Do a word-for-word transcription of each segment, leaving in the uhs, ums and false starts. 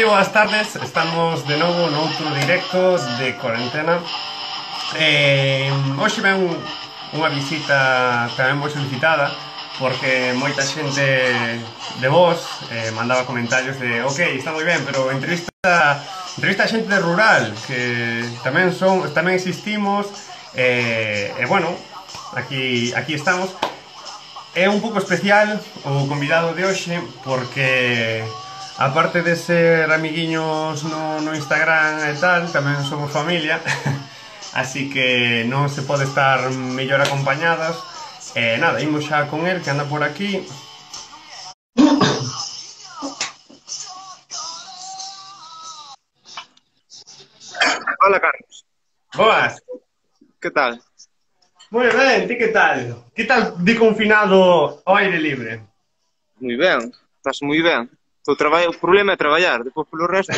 moi boas tardes, estamos de novo noutro directo de cuarentena. eh, Hoxe ven un, unha visita tamén moi solicitada, porque moita xente de vos eh, mandaba comentarios de ok, está moi ben, pero entrevista entrevista a xente de rural, que tamén son tamén existimos. E eh, eh, bueno, aquí, aquí estamos. É un pouco especial o convidado de hoxe, porque aparte de ser amiguiños no, no Instagram e tal, tamén somos familia. Así que non se pode estar mellor acompañadas. E nada, imos xa con el, que anda por aquí. Hola, Carlos. Boas. Que tal? Moi ben, ti que tal? Que tal de confinado ao aire libre? Moi ben, estás moi ben. O, traba... o problema é traballar, depois polo resto...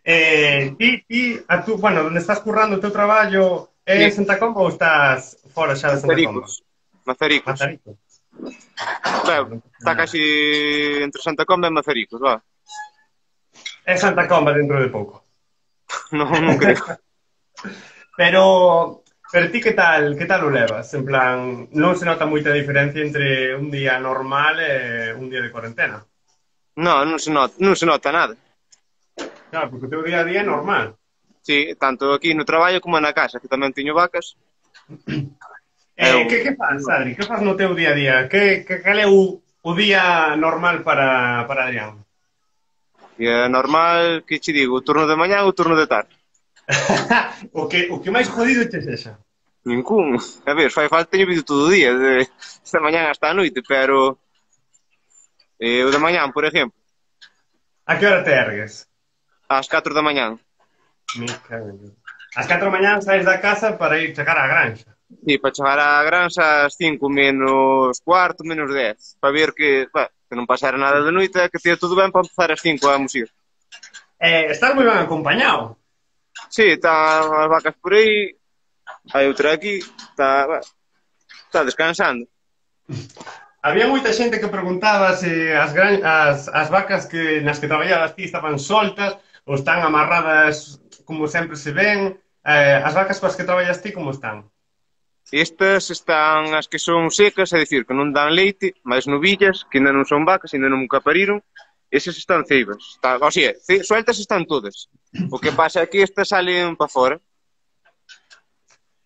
Eh, ti, ti, a tú, bueno, onde estás currando o teu traballo é en Sí. Santa Comba ou estás fora xa de Santa Comba? Mazaricos. Mazaricos. Mazarico. Ben, está casi entre Santa Comba e Mazaricos, va. É Santa Comba dentro de pouco. Non, non creo. Pero, pero ti que tal, que tal o levas? En plan, non se nota moita diferencia entre un día normal e un día de cuarentena. Non, non se nota, non se nota nada. Claro, porque o teu día a día é normal. Sí, tanto aquí no traballo como na casa, que tamén teño vacas. Eh, Eu- que, que faz, Adri? Que faz no teu día a día? Que, que, cal é o, o día normal para, para Adrián? E é normal que che digo, o turno de mañá ou o turno de tarde. o, que, o que máis jodido che sexa? Ningún. A ver, fai falta teño vídeo todo o día, de esta mañá hasta a noite, pero... Eh, o de mañán, por exemplo, A que hora te ergues? ás catro da mañán. Me cago en Dios. As catro da mañá saes da casa para ir chegar á granxa. Sí, para chegar á granxa ás cinco menos cuarto, menos dez, para ver que, bah, que non pasara nada de noite, que tea todo ben para empezar ás cinco a musir. Eh, estás moi ben acompañado. Sí, están as vacas por aí, hai outra aquí, está, bah, está descansando. Había moita xente que preguntaba se as, gran, as, as vacas que nas que traballabas ti estaban soltas ou están amarradas como sempre se ven. Eh, as vacas coas que traballas ti como están? Estas están as que son secas, é dicir, que non dan leite, máis novillas, que ainda non son vacas, ainda non capariron, esas están ceibas. Está, o sea, ce, sueltas están todas. O que pasa é que estas salen para fora.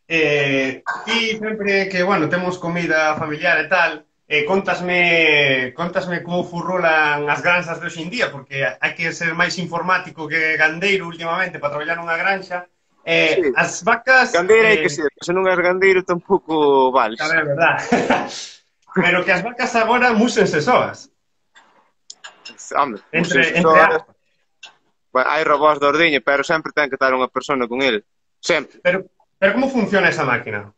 Eh, ti sempre que, bueno, temos comida familiar e tal, eh, contasme, contasme como furrolan as granxas de hoxe en día, porque hai que ser máis informático que gandeiro últimamente para traballar nunha granxa. Eh, Sí. as vacas... Gandeira hai eh, que ser, se non és gandeiro tampouco vales. A ver, é verdad. Pero que as vacas agora músense soas. Hombre, Entre, entre, entre aspas. bueno, hai robós de ordeña, pero sempre ten que estar unha persona con ele. Sempre. Pero, pero como funciona esa máquina?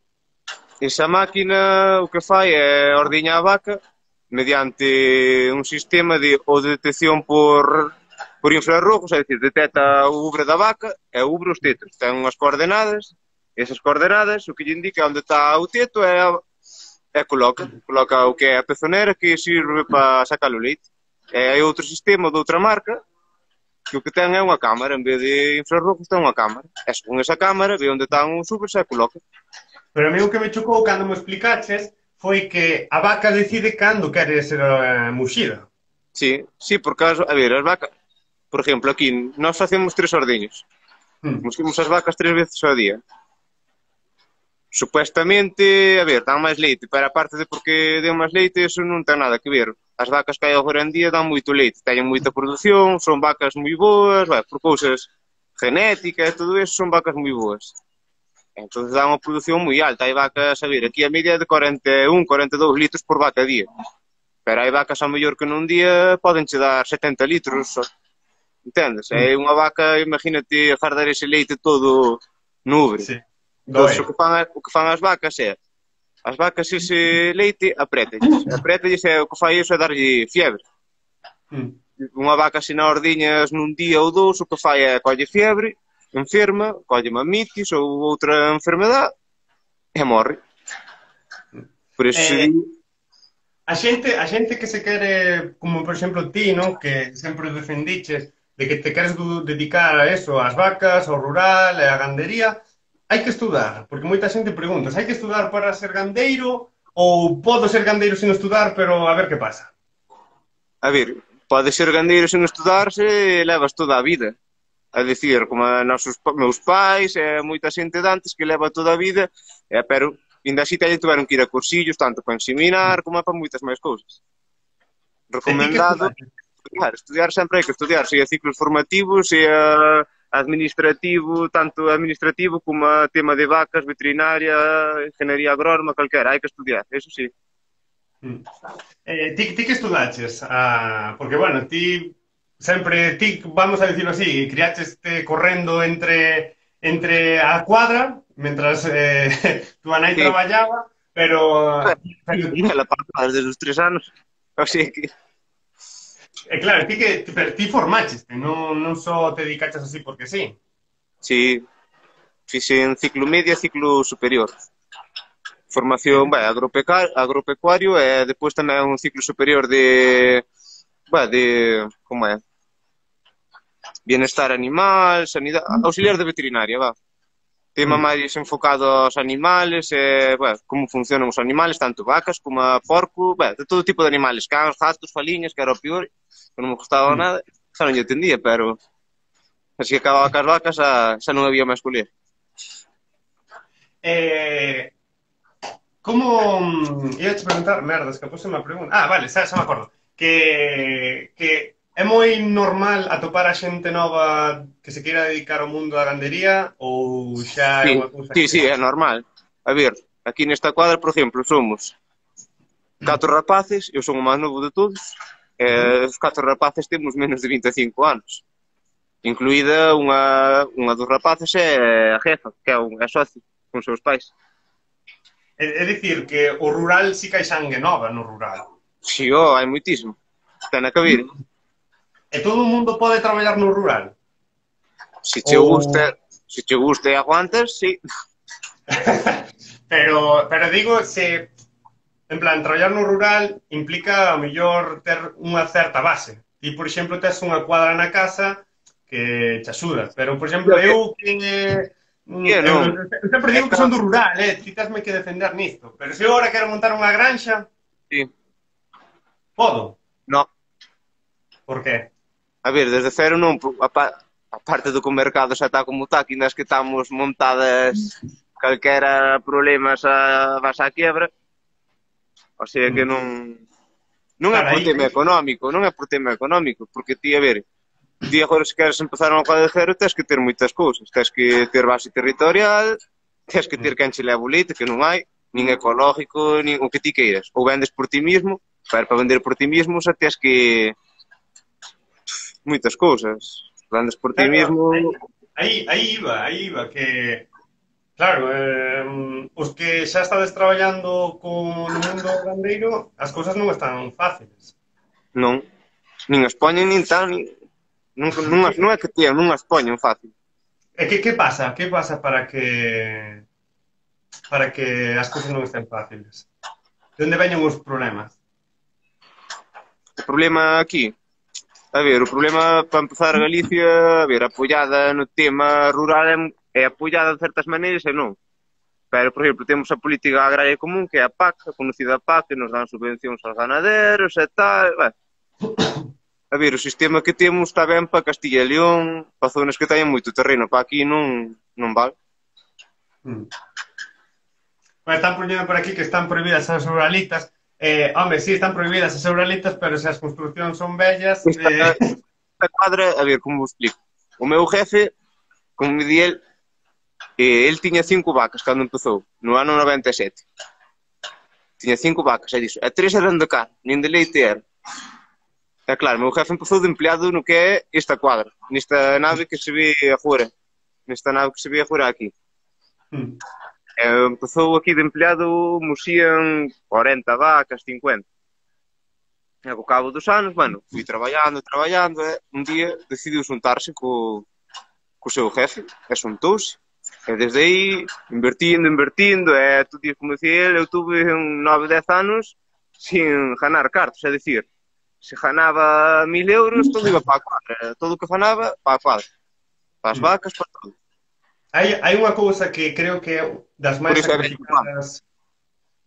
Esa máquina o que fai é ordeña a vaca mediante un sistema de ou de detección por, por infrarrojos, é dicir, detecta o ubre da vaca e o ubre os tetos. Ten unhas coordenadas, esas coordenadas o que lle indica onde está o teto é, a, é coloca, coloca o que é a pezonera que sirve para sacar o leite. E hai outro sistema de outra marca que o que ten é unha cámara, en vez de infrarrojos ten unha cámara. E con esa cámara ve onde están os ubres e coloca. Pero a mí o que me chocou cando me explicaches foi que a vaca decide cando quere ser uh, muxida. Sí, sí, porque, as, a ver, as vacas, por exemplo, aquí, nós facemos tres ordeños. Hmm. Musquimos as vacas tres veces ao día. Supuestamente, a ver, dan máis leite, pero aparte de porque den máis leite, eso non ten nada que ver. As vacas que hai agora en día dan moito leite, teñen moita produción, son vacas moi boas, vai, por cousas genéticas e todo eso, son vacas moi boas. Entón, dan unha produción moi alta. Hai vacas, a ver, aquí a media é de cuarenta e un, cuarenta e dous litros por vaca a día. Pero hai vacas ao mellor que nun día poden che dar setenta litros, só. Entendes? É unha vaca, imagínate, fardar ese leite todo no ubre. Sí. Entón, Doe. o que fan, o que fan as vacas é, as vacas ese leite apretalles. Apretalles e o que fai iso é darlle fiebre. Hmm. Unha vaca se na ordiñas nun día ou dous, o que fai é colle fiebre, enferma, colle mamitis ou outra enfermedade e morre. Por eso Eh, se di... A xente, a xente que se quere, como por exemplo ti, non? Que sempre defendiches de que te queres du- dedicar a eso, ás vacas, ao rural, e á gandería, hai que estudar, porque moita xente pregunta, hai que estudar para ser gandeiro ou podo ser gandeiro sin estudar, pero a ver que pasa. A ver, pode ser gandeiro sen estudar se levas toda a vida. A dicir, como a nosos pa- meus pais e moita xente de antes que leva toda a vida, e, pero ainda así teñen tuveron que ir a cursillos tanto para ensiminar como para moitas máis cousas. E ti que Recomendado estudaste? estudiar, estudiar sempre hai que estudiar, se a ciclos formativos, se a administrativo, tanto administrativo como a tema de vacas, veterinaria, ingeniería agrónoma, calquera, hai que estudiar, eso sí. Mm. Eh, ti, ti que estudaches? Ah, porque, bueno, ti sempre, ti, vamos a decirlo así, criacheste correndo entre, entre a cuadra, mentras eh, tu nai Sí, traballaba, pero, pero la parte desde os tres anos, así que eh, claro, ti que pero ti formacheste, non, non só te dedicaches así porque sí. sí, fixen ciclo medio e ciclo superior. Formación, Eh, vai, agropeca- agropecuario e depois tamén un ciclo superior de, vai, de, como é, bienestar animal, sanidade, auxiliar de veterinaria, va. Tema mm, máis enfocado aos animales, e, bueno, como funcionan os animales, tanto vacas como a porco, bueno, de todo tipo de animales, cans, gatos, faliñas, que era o pior, que non me gustaba mm. nada, xa non lle entendía, pero así que acababa cas vacas, xa, xa non había máis escoller. Eh, como... mm, Ia te preguntar, merda, escapouse unha pregunta. Ah, vale, xa, xa me acordo. Que, que é moi normal atopar a xente nova que se queira dedicar ao mundo da gandería ou xa é Sí, unha cousa sí, que... sí, é normal. A ver, aquí nesta cuadra, por exemplo, somos catro rapaces, eu son o máis novo de todos, e Ujú. os catro rapaces temos menos de vinte e cinco anos. Incluída unha, unha dos rapaces é a jefa, que é, un, é socio con seus pais. É, é dicir que o rural si que hai sangue nova no rural. Si, oh, hai moitísimo. Ten a cabida. E todo o mundo pode traballar no rural? Se che Ou... gusta, se che gusta e aguantas, sí. pero, pero digo, se... En plan, traballar no rural implica, a mellor, ter unha certa base. Ti, por exemplo, tes unha cuadra na casa que te axuda. Pero, por exemplo, Yo que, eu que... mm, que Eu, non. eu sempre É digo que ca... son do rural, eh? Ti tesme que defender nisto. Pero se eu agora quero montar unha granxa, Sí. podo. No. Por qué? A ver, desde cero non, a, pa, a parte do que o mercado xa está como está, que nas que estamos montadas calquera problemas a vas á quiebra, o sea que Mm. non non é Claro, por aí, tema aí, económico, non é por tema económico, porque ti, a ver, ti agora se queres empezar unha coisa de cero, tens que ter moitas cousas, tens que ter base territorial, tens que ter mm. quen che leva o leite, que non hai, nin ecológico, nin o que ti queiras, ou vendes por ti mismo, pero para vender por ti mismo xa tens que moitas cousas, vendes por ti Claro, mismo, aí, aí, aí iba, aí iba, que claro, eh, os que xa estades traballando con no mundo gandeiro, as cousas non están fáciles. non, nin as poñen nin tal, nin, non, non, as, non é que tían, non as poñen fácil. E que, que pasa? Que pasa para que para que as cousas non estén fáciles? De onde veñen os problemas? O problema aquí, a ver, o problema para empezar Galicia, a ver, apoiada no tema rural é, é apoiada de certas maneiras e non. Pero, por exemplo, temos a política agraria común, que é a PAC, a conocida PAC, que nos dan subvencións aos ganaderos e tal. Bueno, a ver, o sistema que temos está ben para Castilla e León, para zonas que teñen moito terreno, para aquí non, non vale. Hmm. Bueno, están prohibiendo por aquí que están prohibidas as ruralitas. Eh, home, sí, están prohibidas as ruralitas, pero se as construccións son bellas... Esta, Eh... esta cuadra, a ver, como vos explico. O meu jefe, como me di el, eh, el tiña cinco vacas cando empezou, no ano noventa e sete. Tiña cinco vacas, e dixo, e tres eran de carne, nin de leite era. E claro, meu jefe empezou de empleado no que é esta cuadra, nesta nave que se ve agora, nesta nave que se ve agora aquí. Hmm. E empezou aquí de empleado, moxían cuarenta vacas, cincuenta. E ao cabo dos anos, bueno, fui traballando, traballando, e un día decidiu xuntarse co, co seu jefe, e xuntouse. E desde aí, invertindo, invertindo, e tú tías como decía ele, eu tuve un nove, dez anos, sin ganar cartos, é dicir, se ganaba mil euros, todo iba para a cuadra, todo o que ganaba, para a cuadra, para as Mm. vacas, para todo. Hai, hai unha cousa que creo que é das Por máis iso é bella cuadra. sacrificadas.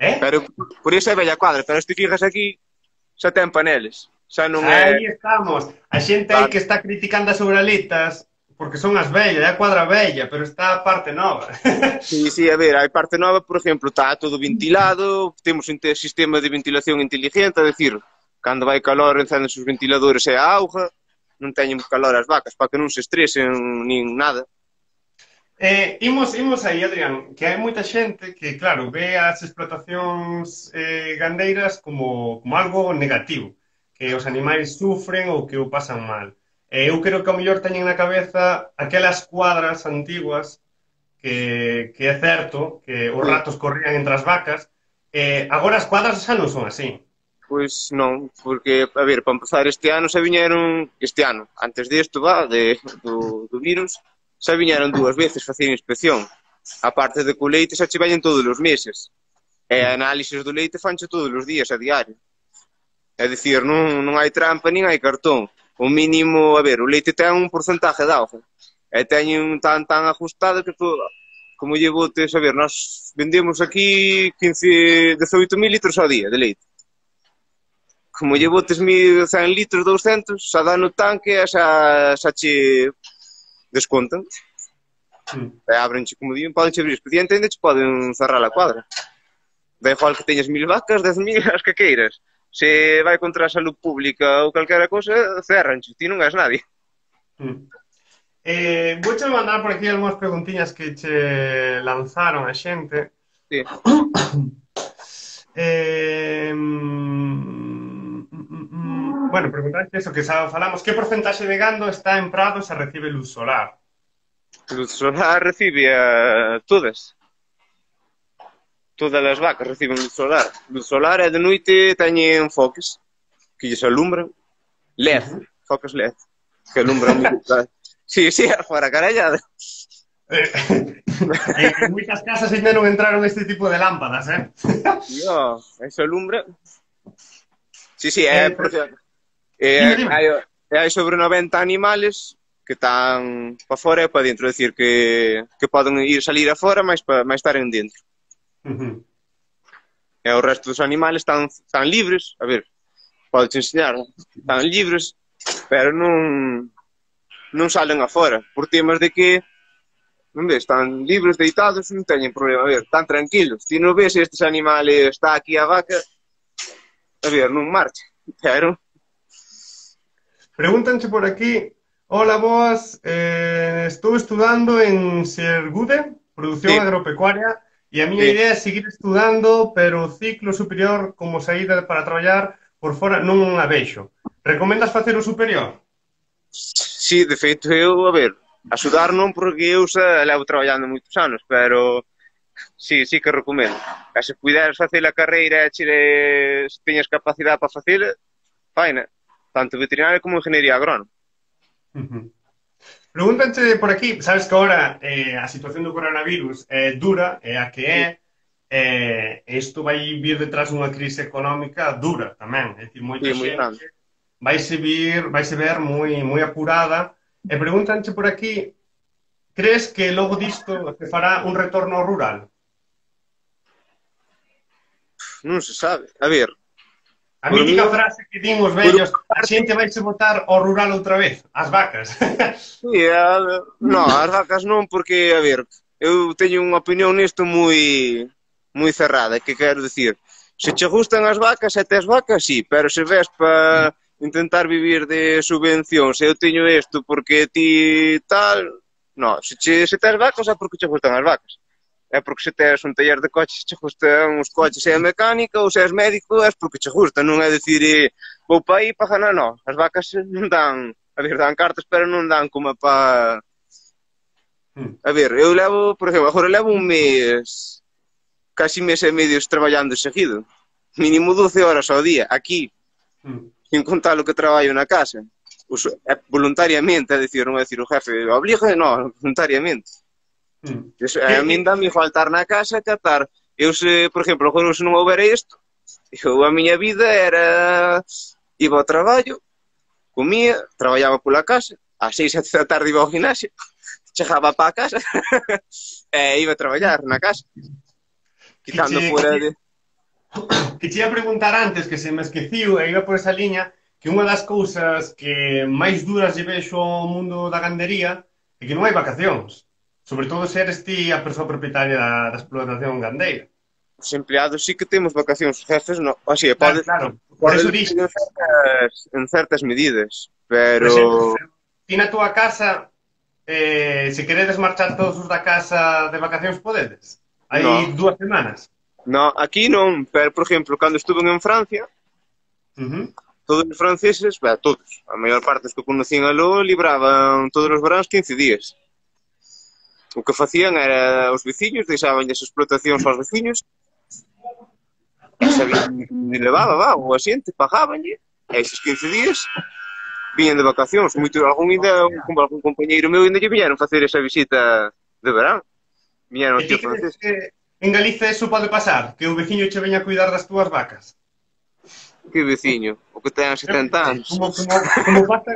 Eh? Pero, por iso é bella cuadra, pero se te fijas aquí, xa ten paneles, xa non é... Aí estamos. A xente aí Claro. que está criticando as uralitas porque son as vellas, é a cuadra vella, pero está a parte nova. Sí, sí, a ver, hai parte nova, por exemplo, está todo ventilado, temos un te- sistema de ventilación inteligente, é dicir, cando vai calor encenden os ventiladores e a auga, non teñen calor as vacas, para que non se estresen nin nada. Eh, imos, imos aí, Adrián, que hai moita xente que, claro, ve as explotacións eh, gandeiras como, como algo negativo, que os animais sufren ou que o pasan mal. Eh, eu creo que ao mellor teñen na cabeza aquelas cuadras antiguas que, que é certo que os Sí. ratos corrían entre as vacas. Eh, agora as cuadras xa non son así. Pois non, porque, a ver, para empezar este ano xa viñeron, este ano, antes desto, va, de, do, do virus, xa viñeron dúas veces facer inspección. A parte de que o leite xa che veñen todos os meses. E análisis do leite fanche todos os días, a diario. É dicir, non, non hai trampa, nin hai cartón. O mínimo, a ver, o leite ten un porcentaje de auga. E teñen tan tan ajustado que todo, como lle botes, a ver, nós vendemos aquí quince, dezoito mil litros ao día de leite. Como lle botes mil cen litros, douscentos, xa dá no tanque e xa, xa che descontan. Mm. E abrenche, como digo, poden che abrir expediente e ainda che poden cerrar a cuadra. Da igual que teñas mil vacas, dez mil, as que queiras. Se vai contra a salud pública ou calquera cosa, cerranche, ti non és nadie. Mm. Eh, vouche mandar por aquí algunhas preguntiñas que che lanzaron a xente. Sí. Eh, mm, mm, mm, bueno, preguntaste eso que xa falamos. Que porcentaxe de gando está en prados e recibe luz solar? Luz solar recibe a todas. Todas as vacas reciben luz solar. Luz solar e de noite teñen foques que lles alumbran. L E D, Uh-huh. foques L E D, que alumbran moito. Sí, sí, fora carallada. Eh, en moitas casas ainda non entraron este tipo de lámpadas, eh? Tío, eso alumbra. Sí, sí, é Eh, porque dime, eh, dime. hai, hai sobre noventa animales que están para fora e para dentro, é dicir, que, que poden ir salir afora, mas para mais estar en dentro. Uh-huh. E o resto dos animales están, están libres, a ver, podes enseñar, están libres, pero non non salen afora, por temas de que non ves, están libres, deitados, non teñen problema, a ver, están tranquilos. Ti non ves estes animales, está aquí a vaca, a ver, non marcha, pero... Pregúntanche por aquí. Hola, boas. Eh, estou estudando en Sergude, produción Sí. agropecuaria, e a miña Sí. idea é seguir estudando, pero o ciclo superior como saída para traballar por fora non a vexo. Recomendas facer o superior? Sí, de feito, eu, a ver, axudar non porque eu xa levo traballando moitos anos, pero sí, sí que recomendo. E se puderes facer a carreira e che, se teñas capacidade para facela, faina, tanto veterinaria como ingeniería agrónoma. Uh-huh. Pregúntanche por aquí, sabes que agora eh, a situación do coronavirus é dura, é a que é, eh, isto vai vir detrás dunha crise económica dura tamén, é dicir, moita Sí, moi grande. xente vaise vir, vaise ver moi moi apurada, e pregúntanche por aquí, crees que logo disto se fará un retorno ao rural? Non se sabe. A ver, A Por mítica mí- frase que din os vellos, a xente vaise botar ao rural outra vez, as vacas. sí, a, no, as vacas non, porque, a ver, eu teño unha opinión nisto moi moi cerrada, que quero dicir, se che gustan as vacas e tes vacas, sí, pero se ves para intentar vivir de subvencións, eu teño isto porque ti tal, no, se, che, se tes vacas é porque che gustan as vacas. É porque se tes un taller de coches che gustan os coches e a mecánica, ou se és médico é porque che gusta, non é dicir eh, vou pa aí pa ganar, non. As vacas non dan, a ver, dan cartas, pero non dan como pa... A ver, eu levo, por exemplo, agora levo un mes, casi mes e medio traballando seguido, mínimo doce horas ao día, aquí, sin contar o que traballo na casa. Us, é voluntariamente, é dicir, non é dicir o jefe, obliga, non, voluntariamente. Eso, a min dame igual estar na casa que estar. Eu se, por exemplo, agora se non houbera isto, Eu, a miña vida era... Iba ao traballo, comía, traballaba pola casa, ás seis, sete da tarde iba ao gimnasio, chegaba para a casa e iba a traballar na casa, quitando Que che, fora de... que che ia preguntar antes, que se me esqueciu, e iba por esa liña, que unha das cousas que máis duras lle vexo ao mundo da gandería é que non hai vacacións. Sobre todo se eres ti a persoa propietaria da, da explotación gandeira. Os empleados sí que temos vacacións, os jefes non. Así, Claro, pode, claro. Por pode eso depender dixo. en certas, en certas medidas, Por pero... exemplo, ti na túa casa, eh, se queredes marchar todos os da casa de vacacións, podedes? Hai No, dúas semanas. no, aquí non, pero, por exemplo, cando estuve en Francia, Uh -huh. todos os franceses, ben, todos, a maior parte dos que conocían aló, libraban todos os veráns quince días. O que facían era os veciños, deixaban as explotacións aos veciños, sabían que levaba, va, o asiente, pagábanlle, e esos quince días viñan de vacacións. Moito, algún, ainda, algún compañeiro meu ainda lle viñeron facer esa visita de verán. Viñeron E aquí ti ao francés. crees que en Galicia eso pode pasar? Que o veciño che veña a cuidar das túas vacas? Que veciño, o que ten setenta anos. Como, como, como pasa?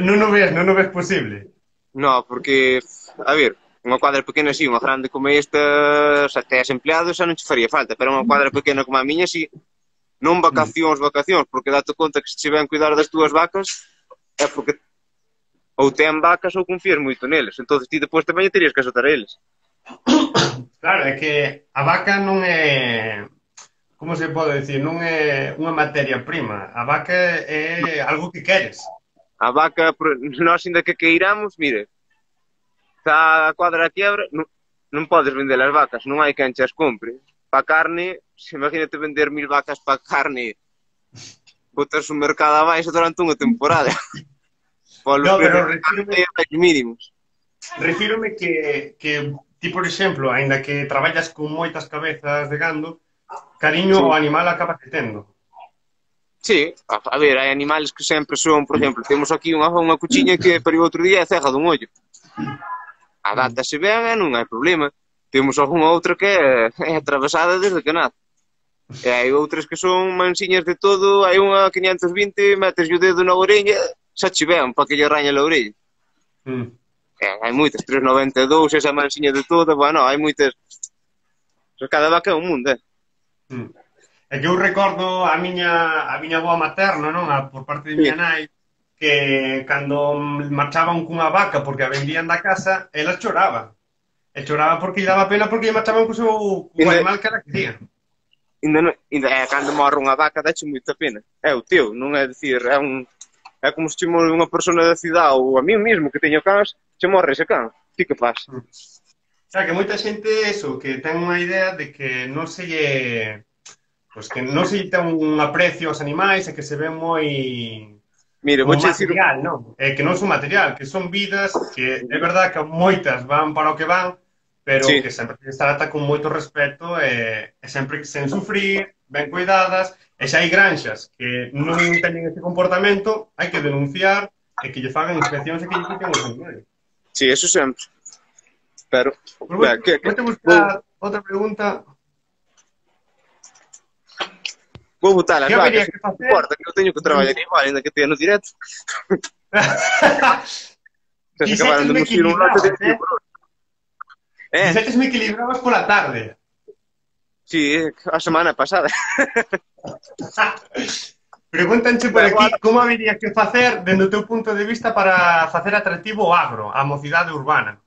non o ves, non o ves posible. No, porque, a ver, unha cuadra pequena así, unha grande como esta, xa tes empleados, xa non che faría falta, pero unha cuadra pequena como a miña, si, non vacacións, vacacións, porque date conta que se che ven cuidar das túas vacas, é porque ou ten vacas ou confías moito neles, entón ti depois tamén terías que azotar eles. Claro, é que a vaca non é... Como se pode decir? Non é unha materia prima. A vaca é algo que queres. A vaca, nós ainda que queiramos, mire, está a cuadra a quiebra, non, non podes vender as vacas, non hai quen as compre. Pa carne, se imagínate vender mil vacas pa carne, botas o mercado abaixo durante unha temporada. No, pero refírome, mínimos. refírome que, que ti, por exemplo, aínda que traballas con moitas cabezas de gando, cariño sí. ao animal acaba que tendo. Sí, a, a ver, hai animales que sempre son, por exemplo, temos aquí unha, unha cuchiña que pariu outro día é cega dun ollo. A data se ven e non hai problema. Temos algunha outra que é, é atravesada desde que nace. E hai outras que son mansiñas de todo, hai unha quinientos vinte, metes o dedo na orella, xa che ven para que lle raña a orella. Mm. E hai moitas, trescentos e noventa e dous, esa mansiña de toda, bueno, hai moitas... Cada vaca é un mundo, eh? Mm. É que eu recordo a miña a miña avoa materna, non? A, por parte de miña nai, que cando marchaban cunha vaca porque a vendían da casa, ela choraba. E choraba porque lle daba pena porque lle marchaban co seu co animal que ela quería. Ainda non, ainda é cando morre unha vaca, dache moita pena. É o teu, non é dicir, é un é como se che morre unha persona da cidade ou a mí mesmo que teño cans, che morre ese can. Ti que faz? O sea, que moita xente eso, que ten unha idea de que non se lle Pois que non se ten un aprecio aos animais e que se ven moi Mire, como vouche material, dicir... non? É que non son material, que son vidas que é verdad que moitas van para o que van, pero sí. que sempre se trata con moito respeto e, e sempre sen sufrir, ben cuidadas, e xa hai granxas que non teñen ese comportamento, hai que denunciar e que lle fagan inspeccións e que lle quiten os animais. Sí, eso sempre. Pero, Pero vou, que, que, vou te buscar vou... outra pregunta. Vou botar as vacas, que non importa, que eu teño que traballar igual, ainda que teña no directo. Se acabaron de musir un lote de eh? eh? Dixetesme que librabas pola tarde. Sí, a semana pasada. Pregúntanche por aquí como habería que facer, dende o teu punto de vista, para facer atractivo o agro, a mocidade urbana.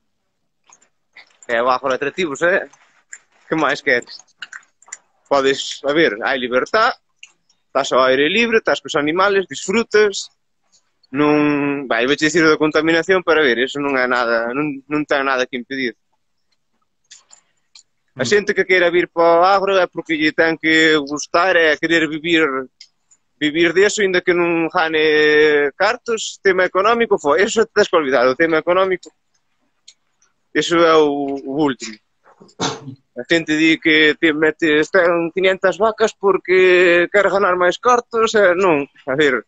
É o agro atractivo, eh? Que máis queres? Podes, a ver, hai libertad, estás ao aire libre, estás cos animales, disfrutas, non... Vai, vou dicir da contaminación, pero a ver, eso non é nada, non, non ten nada que impedir. A xente que queira vir para o agro é porque lle ten que gustar, é querer vivir vivir deso, ainda que non gane cartos, tema económico, foi, eso tens que olvidar, o tema económico, eso é o, o último. A xente di que te metes ten quinientas vacas porque quer ganar máis cartos, e non, a ver,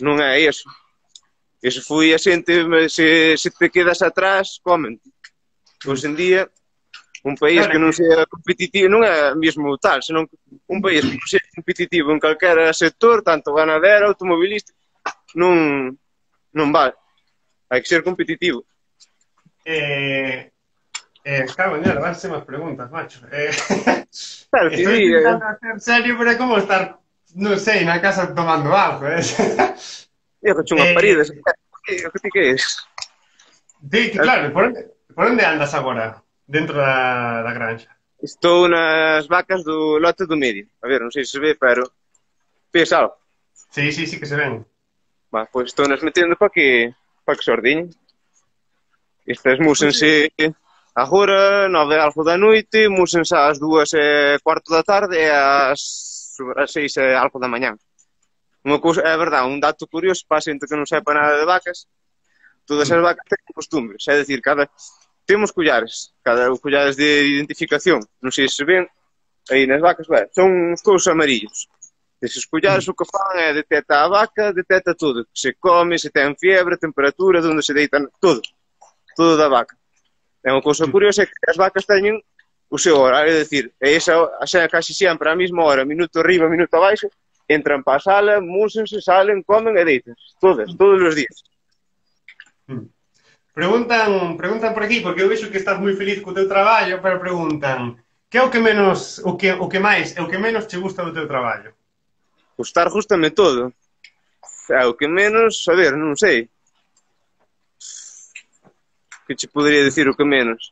non é eso. Eso foi a xente, se, se te quedas atrás, comen. Hoxe en día, Un país Claro que non que sea competitivo, non é mesmo tal, senón un país que non sea competitivo en calquera sector, tanto ganadero, automobilístico, non, non vale. Hai que ser competitivo. eh, eh, cago en él, van más preguntas, macho. Eh, Claro que estoy di, eh, intentando hacer serio, pero es como estar, no sé, en la casa tomando algo, ¿eh? eu que unha parida, eh, o que ti que es? sí, que claro, por onde, por onde andas agora? Dentro da, da granja? Estou nas vacas do lote do medio. A ver, non sei se se ve, pero ves algo. Sí, sí, sí que se ven. Va, pois estou nas metendo para que para que se ordeñen. Estas Oye, músense agora, nove e algo da noite, músense ás dúas e cuarto da tarde e ás, ás seis e algo da mañán. Unha cousa, é verdade, un dato curioso para a xente que non sepa nada de vacas, todas as mm, vacas teñen costumbres, é dicir, cada temos collares, cada collares de identificación, non sei se ven, aí nas vacas, ben, son uns cousos amarillos. Eses collares mm, o que fan é detecta a vaca, detecta todo, se come, se ten fiebre, temperatura, onde se deita, todo, todo da vaca. É unha cousa mm. curiosa é que as vacas teñen o seu horario, é dicir, é esa, xa casi sempre a mesma hora, minuto arriba, minuto abaixo, entran para a sala, músense, salen, comen e deitan, todas, todos os días. Mm. Preguntan, preguntan por aquí, porque eu vexo que estás moi feliz co teu traballo, pero preguntan, que é o que menos, o que, o que máis, é o que menos che gusta do teu traballo? Gustar justame todo. É o que menos, a ver, non sei. Que che podería dicir o que menos?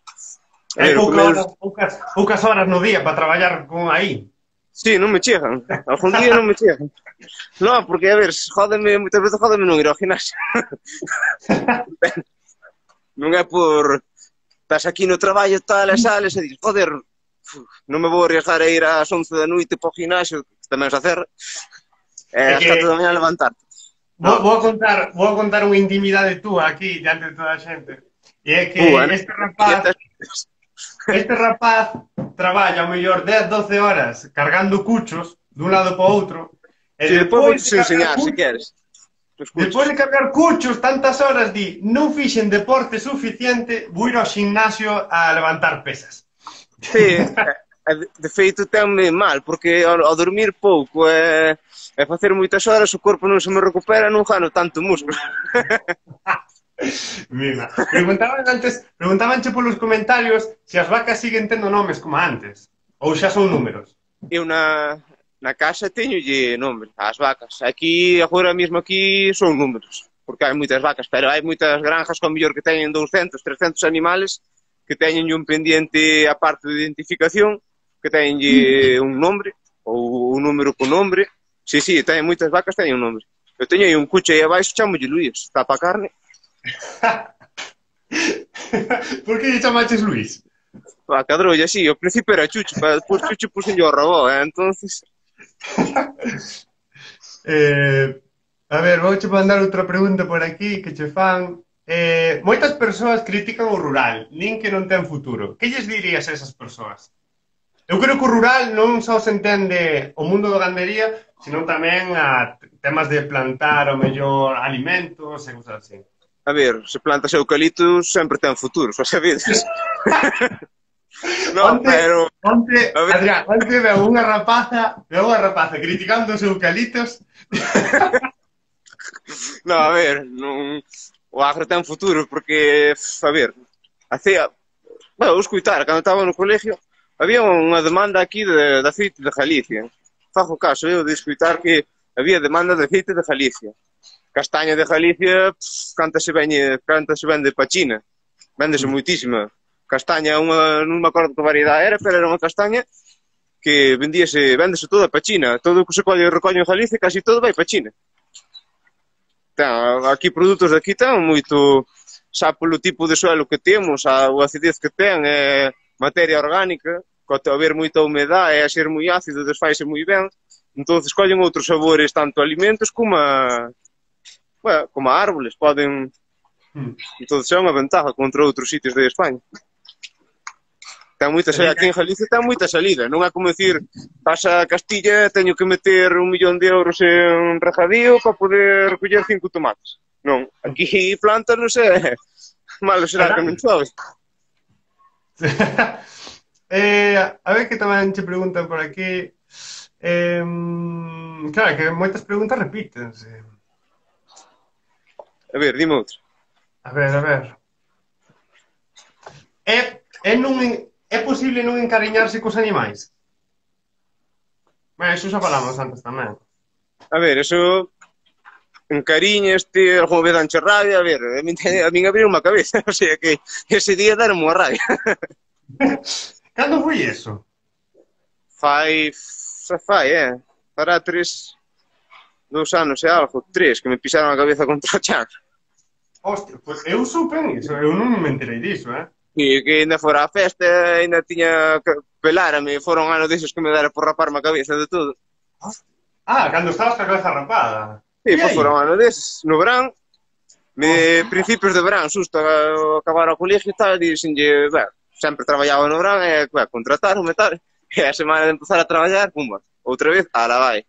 A Hai ver, o que pouca menos... hora, poucas, poucas horas no día para traballar con aí. Sí, non me chegan. Algún día non me chegan. Non, porque, a ver, jódeme, moitas veces jódeme non ir ao ginasio. Non é por... Estás aquí no traballo, tal, e sales e dices, joder, non me vou arriesgar a ir ás once da noite para o ginasio, que tamén se acerra, e É ás que catro da mañá levantarte. vou, Non. vou a contar, vou a contar unha intimidade túa aquí diante de toda a xente. E é que Bueno, este rapaz, dietas... este rapaz traballa ao mellor dez, doce horas cargando cuchos dun lado para outro, e Si, despois despois vou de cargar enseñar, se cuchos, queres. despois Escuchas. de cargar cuchos tantas horas, di, non fixen deporte suficiente, vou ir ao gimnasio a levantar pesas. Sí, de, de feito tenme mal, porque ao, ao dormir pouco e, e facer moitas horas o corpo non se me recupera, non gano tanto músculo. Mira, preguntaban antes, preguntabanche polos comentarios se as vacas siguen tendo nomes como antes, ou xa son números. Eu na, na casa teñolle nome, as vacas. Aquí, agora mesmo aquí, son números, porque hai moitas vacas, pero hai moitas granjas con mellor que teñen doscientos, trescientos animales que teñen un pendiente a parte de identificación, que teñenlle un nombre, ou un número con nombre. Sí, sí, teñen moitas vacas, teñen un nombre. Eu teño aí un cucho aí abaixo, chamolle Luís, tapa a carne. Por que lle chamaches Luís? A cadrolla, sí, ao principio era Chucho, pero despois Chucho puxenlle o robó, eh? Entonces... eh, a ver, vou che mandar outra pregunta por aquí que che fan. Eh, moitas persoas critican o rural, nin que non ten futuro. Que lles dirías a esas persoas? Eu creo que o rural non só se entende o mundo da gandería, senón tamén a temas de plantar o mellor alimentos e cousas así. A ver, se plantas eucaliptus sempre ten futuro, xa sabedes. No, onte, pero... onte, A ver... Adrián, onte veo unha rapaza, veo unha rapaza criticando os eucaliptos. No, a ver, non... O agro ten futuro, porque, a ver, hacía... Bueno, vou escutar, cando estaba no colegio, había unha demanda aquí de, de aceite de Galicia. Fajo caso, eu, de escutar que había demanda de aceite de Galicia. Castaña de Galicia, pff, canta se vende, canta se vende pa China. Véndese moitísima. Castaña, unha, non me acordo que variedade era, pero era unha castaña que vendíase, véndese toda pa China. Todo o que se colle e recolle en Galicia, casi todo vai pa China. Ten, aquí produtos de aquí ten moito, xa polo tipo de suelo que temos, a, a acidez que ten, é materia orgánica, co haber moita humedade e a ser moi ácido, desfaise moi ben. Entón, collen outros sabores, tanto alimentos como a, bueno, como a árboles, poden... Entón, é unha ventaja contra outros sitios de España. Ten moita salida, aquí en Galicia ten moita salida, non é como dicir, pasa a Castilla, teño que meter un millón de euros en regadío para poder recoller cinco tomates. Non, aquí plantas, non sei, malo será que non chove. Eh, a ver que tamén che preguntan por aquí. Eh, claro, que moitas preguntas repítense. A ver, dime outro. A ver, a ver. É, é, non, é posible non encariñarse cos animais? Bueno, iso xa falamos antes tamén. A ver, eso encariñaste, algunha vez danche rabia, a ver, a min, a min abriu unha cabeza, o sea que ese día deron unha rabia. Cando foi eso? Fai, xa fai, eh, para tres, dous anos e algo, tres, que me pisaron a cabeza contra o chan. Hostia, pois eu supen iso, eu non me enterei diso, eh? E que ainda fora a festa, ainda tiña que pelárame, foron anos deses que me dera por raparme a cabeza de todo. Ah, cando estabas ca cabeza rapada. E E pois aí? foron anos deses, no verán, me, principios de verán, susto a acabar o colegio e tal, dixenlle, ben, sempre traballaba no verán e, ben, contrataronme tal, e a semana de empezar a traballar, pumba, outra vez, ala vai.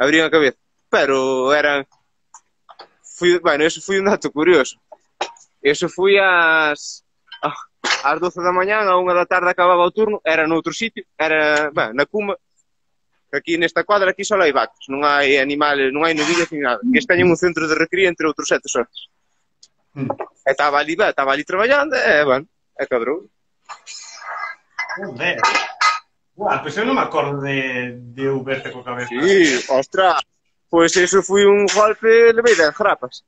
Abrí a cabeza. Pero eran, fui, bueno, eso foi un dato curioso. Eso fui ás, ás doce da mañán, a unha da tarde acababa o turno, era noutro sitio, era, ben, na Cuma, aquí nesta cuadra, aquí só hai vacas, non hai animales, non hai novillas ni nada. Que teñen un centro de recría entre outros sete soces. Mm. E estaba ali, ben, estaba ali traballando, e, bueno, e cabrón. Joder. Buah, pois eu non me acordo de, de eu verte co cabeza. Sí, ostras, pois eso foi un golpe, levei dez grapas.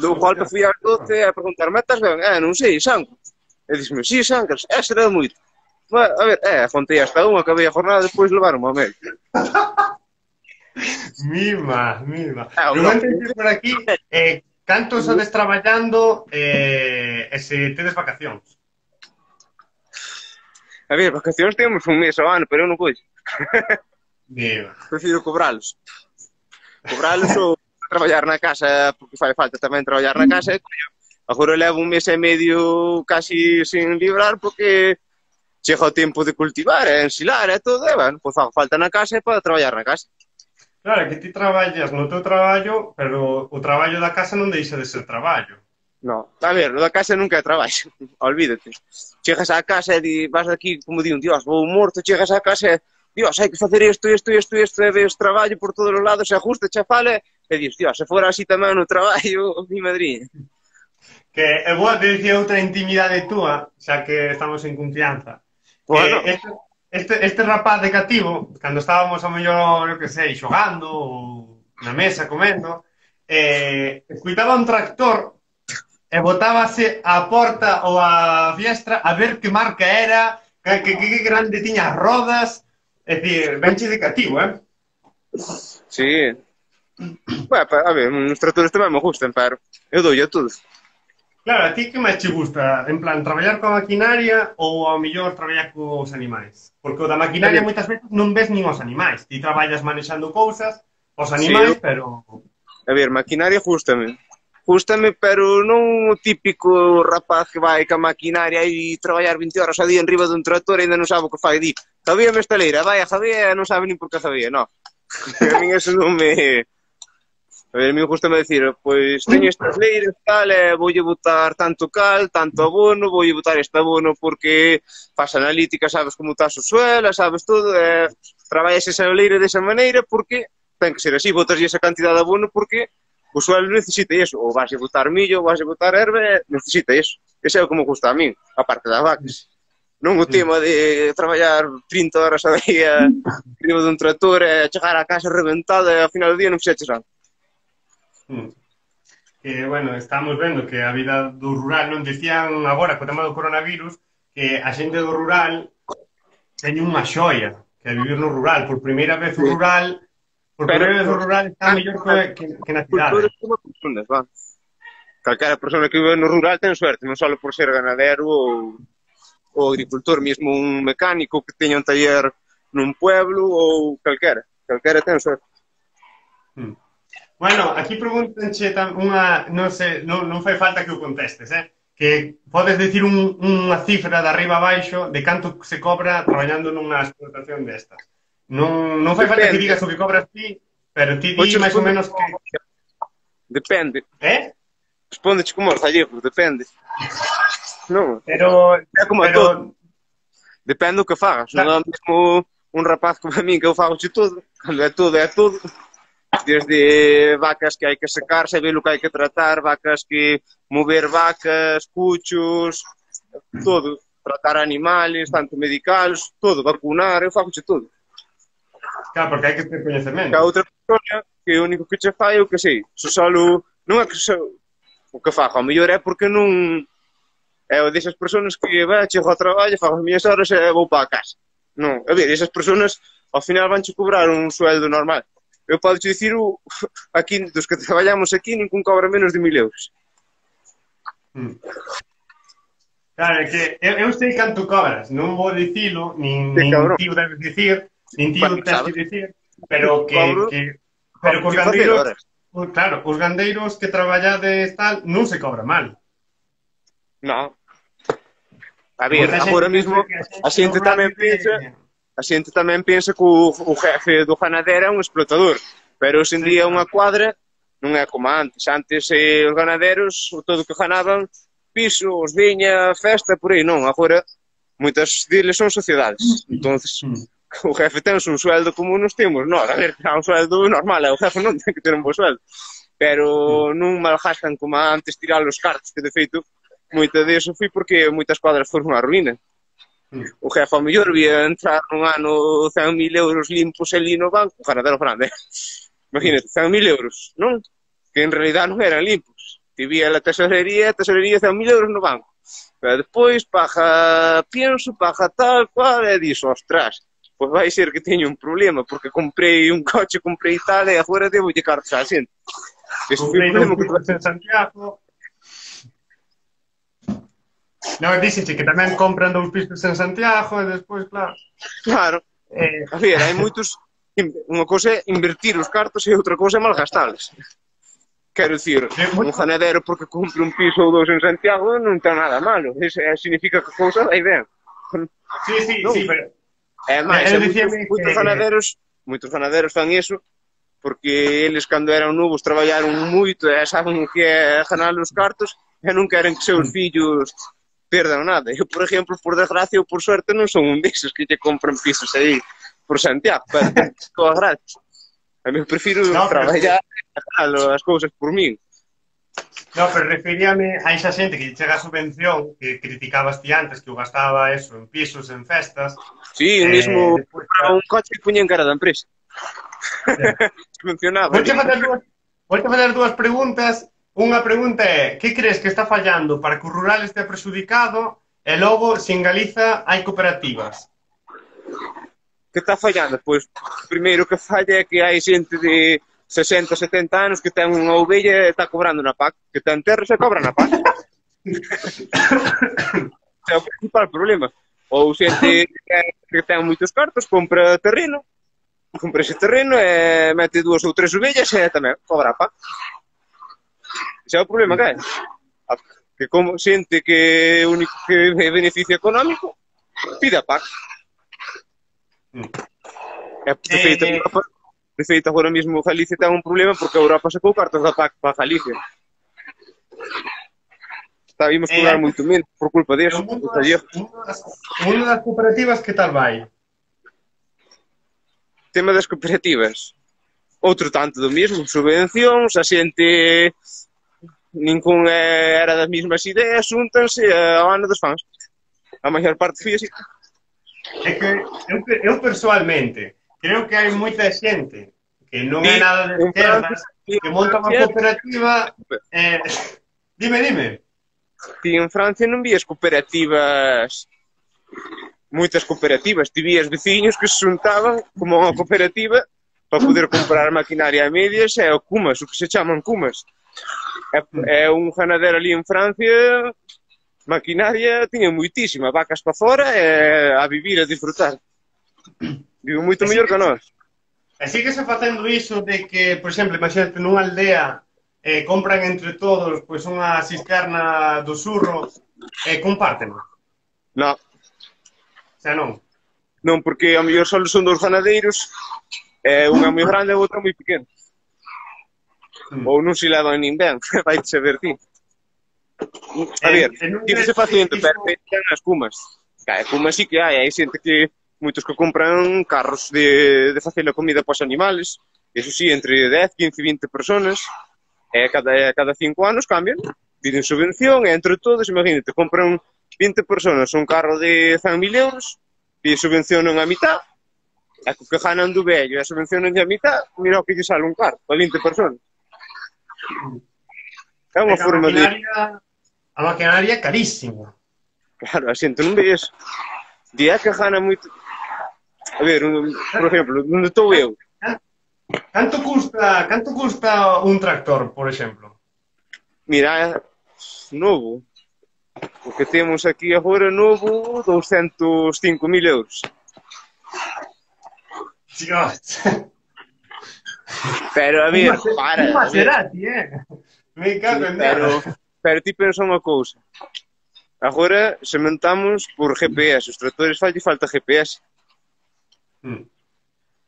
Do golpe fui ás doce a preguntar, metas ben? Eh, non sei, sangue. E dixeme, sí, sangres, é, será moito. Bueno, a ver, eh, contei hasta unha, acabei a jornada, despois levaron ao medio. Mima, mima. Ah, Eu no. entendo por aquí, eh, canto sodes traballando eh, e se tedes vacacións? A ver, vacacións temos un mes ao ano, pero eu non coixo. Mima. Prefiro cobralos. Cobralos ou traballar na casa, porque fai falta tamén traballar na casa, e coño, agora levo un mes e medio casi sin librar, porque chega o tempo de cultivar, e ensilar, e todo, e, bueno, pois fago falta na casa e para traballar na casa. Claro, que ti traballas no teu traballo, pero o traballo da casa non deixa de ser traballo. No, a ver, lo da casa nunca é traballo, olvídate. Chegas á casa e di, vas aquí, como di un dios, vou morto, chegas á casa e, dios, hai que facer isto, isto, isto, isto, e ves traballo por todos os lados, e ajusta, che fale, e dis, dios, se fora así tamén no traballo, mi madriña. Que é boa te dicía outra intimidade túa, xa que estamos en confianza. Bueno. Que este, este, este rapaz de cativo, cando estábamos a mellor, eu que sei, xogando ou na mesa comendo, eh, escuitaba un tractor e botábase á porta ou á fiestra a ver que marca era, que, que, que grande tiña as rodas, é dicir, benche de cativo, eh? Sí. Bueno, a ver, uns tractores tamén me gustan, pero eu dou a todo. Claro, a ti que máis te gusta? En plan, traballar coa maquinaria ou ao mellor traballar cos animais? Porque o da maquinaria moitas veces non ves nin os animais. Ti traballas manexando cousas, os animais, sí, pero... A ver, maquinaria gústame. Gústame, pero non o típico rapaz que vai ca maquinaria e traballar vinte horas a día en riba dun tractor e ainda non sabe o que fai. Di, Javier me estaleira, vai a Javier, non sabe nin por que Javier, non. A min eso non me... A ver, a mí gustame decir, pois teño estas leiras tal, e voulle botar tanto cal, tanto abono, voulle botar este abono porque faz analítica, sabes como está o suelo, sabes todo, e traballas esa leira desa maneira porque ten que ser así, botas esa cantidad de abono porque o suelo necesita iso, ou vas a botar millo, ou vas a botar herbe, necesita iso. Ese é o que me gusta a min, a parte das vacas. Non o tema de traballar trinta horas a día riba dun tractor e chegar a casa reventado e ao final do día non fixeches nada. Que, bueno, estamos vendo que a vida do rural non decían agora co tema do coronavirus que a xente do rural teñe unha xoia, que é vivir no rural. Por primeira vez o rural por primeira vez o rural está mellor que, que, que na cidade. Personas, va. Calquera persona que vive no rural ten suerte, non só por ser ganadero ou, ou agricultor, mesmo un mecánico que teña un taller nun pueblo ou calquera. Calquera ten suerte. Hmm. Bueno, aquí pregúntanche unha, non sei, non, non fai falta que o contestes, eh? Que podes decir un, unha cifra de arriba a baixo de canto se cobra traballando nunha explotación destas. Non, non fai falta que digas o que cobras ti, pero ti di máis ou menos que... Depende. Eh? Respondeche como os gallegos, depende. Non, pero... é como pero... todo. Depende do que fagas. Non Claro. é o mesmo un rapaz como a min que eu fago xe todo. Cando é todo, é todo. Desde vacas que hai que secar, saber o que hai que tratar, vacas que mover vacas, cuchos, todo. Tratar animales, tanto medicales, todo. Vacunar, eu fago xe todo. Claro, porque hai que ter Que coñecemento. a outra persona que o único que che fai é o que sei. Se solo... Non é que se... o que fago, ao mellor é porque non... É o desas persoas que vai, chego ao traballo, fago as miñas horas e vou para a casa. Non, a ver, esas persoas ao final vanche cobrar un sueldo normal. Eu podo te dicir, o, aquí, dos que traballamos aquí, ningún cobra menos de mil euros. Mm. Claro, é que eu, eu sei canto cobras, non vou dicilo, nin, Que nin cabrón. tío debes dicir, nin tío Bueno, tens sabes. que dicir, pero que, Cobro, que pero cobro cos sin facer gandeiros, horas. o- claro, os gandeiros que traballades tal, non se cobra mal. Non. A ver, Moita xente agora pensa mesmo, que a xente normal tamén vive- pensa, a xente tamén pensa que o, o jefe do ganadero é un explotador, pero hoxe en Sí, día claro. unha cuadra non é como antes. Antes eh, os ganaderos, o todo o que ganaban, pisos, viña, festa, por aí non. Agora, moitas deles son sociedades. Entonces, Mm. o jefe ten un sueldo como nos temos. Non, a ver, ten un sueldo normal, e o jefe non ten que ter un bo sueldo. Pero non malgastan como antes tirar os cartos, que de feito, moita deso foi porque moitas cuadras foron a ruína. Mm. O jefe ao mellor vía entrar un ano cen mil euros limpos ali no banco, o ganadero grande. Imagínate, cen mil euros, non? Que en realidad non eran limpos. Te vía a tesorería, a tesorería cen mil euros no banco. Pero despois paga pienso, paga tal cual, e dixo, ostras, pois vai ser que teño un problema, porque comprei un coche, comprei tal, e agora debo lle cartos á xente. Ese foi o Comprei problema un que piso en Santiago. Non, díxeche que tamén compran dous pisos en Santiago e despois, claro. Claro. Eh, A ver, hai moitos... Unha cousa é invertir os cartos e outra cousa é malgastales. Quero dicir, un ganadero porque compre un piso ou dous en Santiago non ten nada malo. Eso significa que a cousa vai ben. sí, sí, Non. sí, pero... É máis, Eu é moitos, dicíame moitos que- ganaderos, moitos ganaderos fan iso porque eles cando eran novos traballaron moito e saben o que é ganar os cartos e non queren que seus fillos perdan nada. Eu, por exemplo, por desgracia ou por suerte non son un deses que lle compran pisos aí por Santiago, pero todas gratis. A mí prefiro No, pero- traballar e ganar as cousas por min. No, pero referíame a esa xente que lle chega a subvención, que criticabas ti antes, que o gastaba eso en pisos, en festas. Sí, Eh, mesmo despois, compraba un coche e puña en cara da empresa. Mencionaba. Vouche facer dúas, vouche facer dúas preguntas. Unha pregunta é, que crees que está fallando para que o rural este prexudicado e logo, se en Galiza hai cooperativas? Que está fallando? Pois, primeiro que falla é que hai xente de sesenta, setenta anos que ten unha ovella e está cobrando na P A C, que ten terra e se cobra na P A C. É o principal problema. Ou xente que ten moitos cartos, compra terreno, compra ese terreno e mete dúas ou tres ovellas e tamén cobra a P A C. Ese é o problema que hai. Que como xente que o único que é beneficio económico pide a P A C. Mm. É, de feito, Eh, Europa, de feito, agora mesmo Galicia ten un problema porque a Europa sacou cartas da P A C para Galicia. Está, imos cobrar Eh, moito menos por culpa E deso. o mundo Os gallegos. das, o mundo das, o mundo das cooperativas, que tal vai? Tema das cooperativas. Outro tanto do mesmo, subvencións, a xente ningún era das mesmas ideas, xúntanse ao ano dos fans. A maior parte foi así. É que eu, eu personalmente creo que hai moita xente que non é Sí, nada de en esquerdas, Francia- que monta unha Francia- cooperativa. Eh, dime, dime. Ti en Francia non vías cooperativas, moitas cooperativas, ti vías veciños que se xuntaban como unha cooperativa para poder comprar maquinaria a medias e o cumas, o que se chaman cumas. É, é un ganadero ali en Francia, maquinaria tiña moitísima, vacas para fora e a vivir, a disfrutar. Vivo moito mellor que nós. E síguese facendo iso de que, por exemplo, imagínate nunha aldea eh, compran entre todos pois unha cisterna do surro e compárteno. Non, O sea, non. non, porque ao mellor só son dos ganadeiros, e unha moi grande e outra moi pequena. Mm. Ou non se levan nin ben, vai saber ti. A Eh, ver, e non tírese crees facendo, que iso- pero ten as cumas. Claro, como así que hai, hai xente que, moitos que compran carros de, de facer a comida para os animales, eso sí, entre dez, quince, vinte personas, e cada, e cada cinco anos cambian, piden subvención, e entre todos, imagínate, compran vinte personas un carro de cen mil euros, e subvencionan a mitad, e co que ganan do vello e subvencionan a mitad, mira o que lle sale un carro, para vinte personas. É unha A forma de... maquinaria, a maquinaria é carísima. Claro, a xente non ve eso. Di é que gana moito... A ver, un, por exemplo, onde estou eu, Canto custa, canto custa un tractor, por exemplo? mira, novo, o que temos aquí agora novo, douscentos e cinco mil euros. Dios. Pero, a ver, Un para, un a ver, Maserati, eh? Me cago en pero, Dios. pero ti pensa unha cousa. Agora sementamos por G P S, os tractores falta e falta G P S. Mm.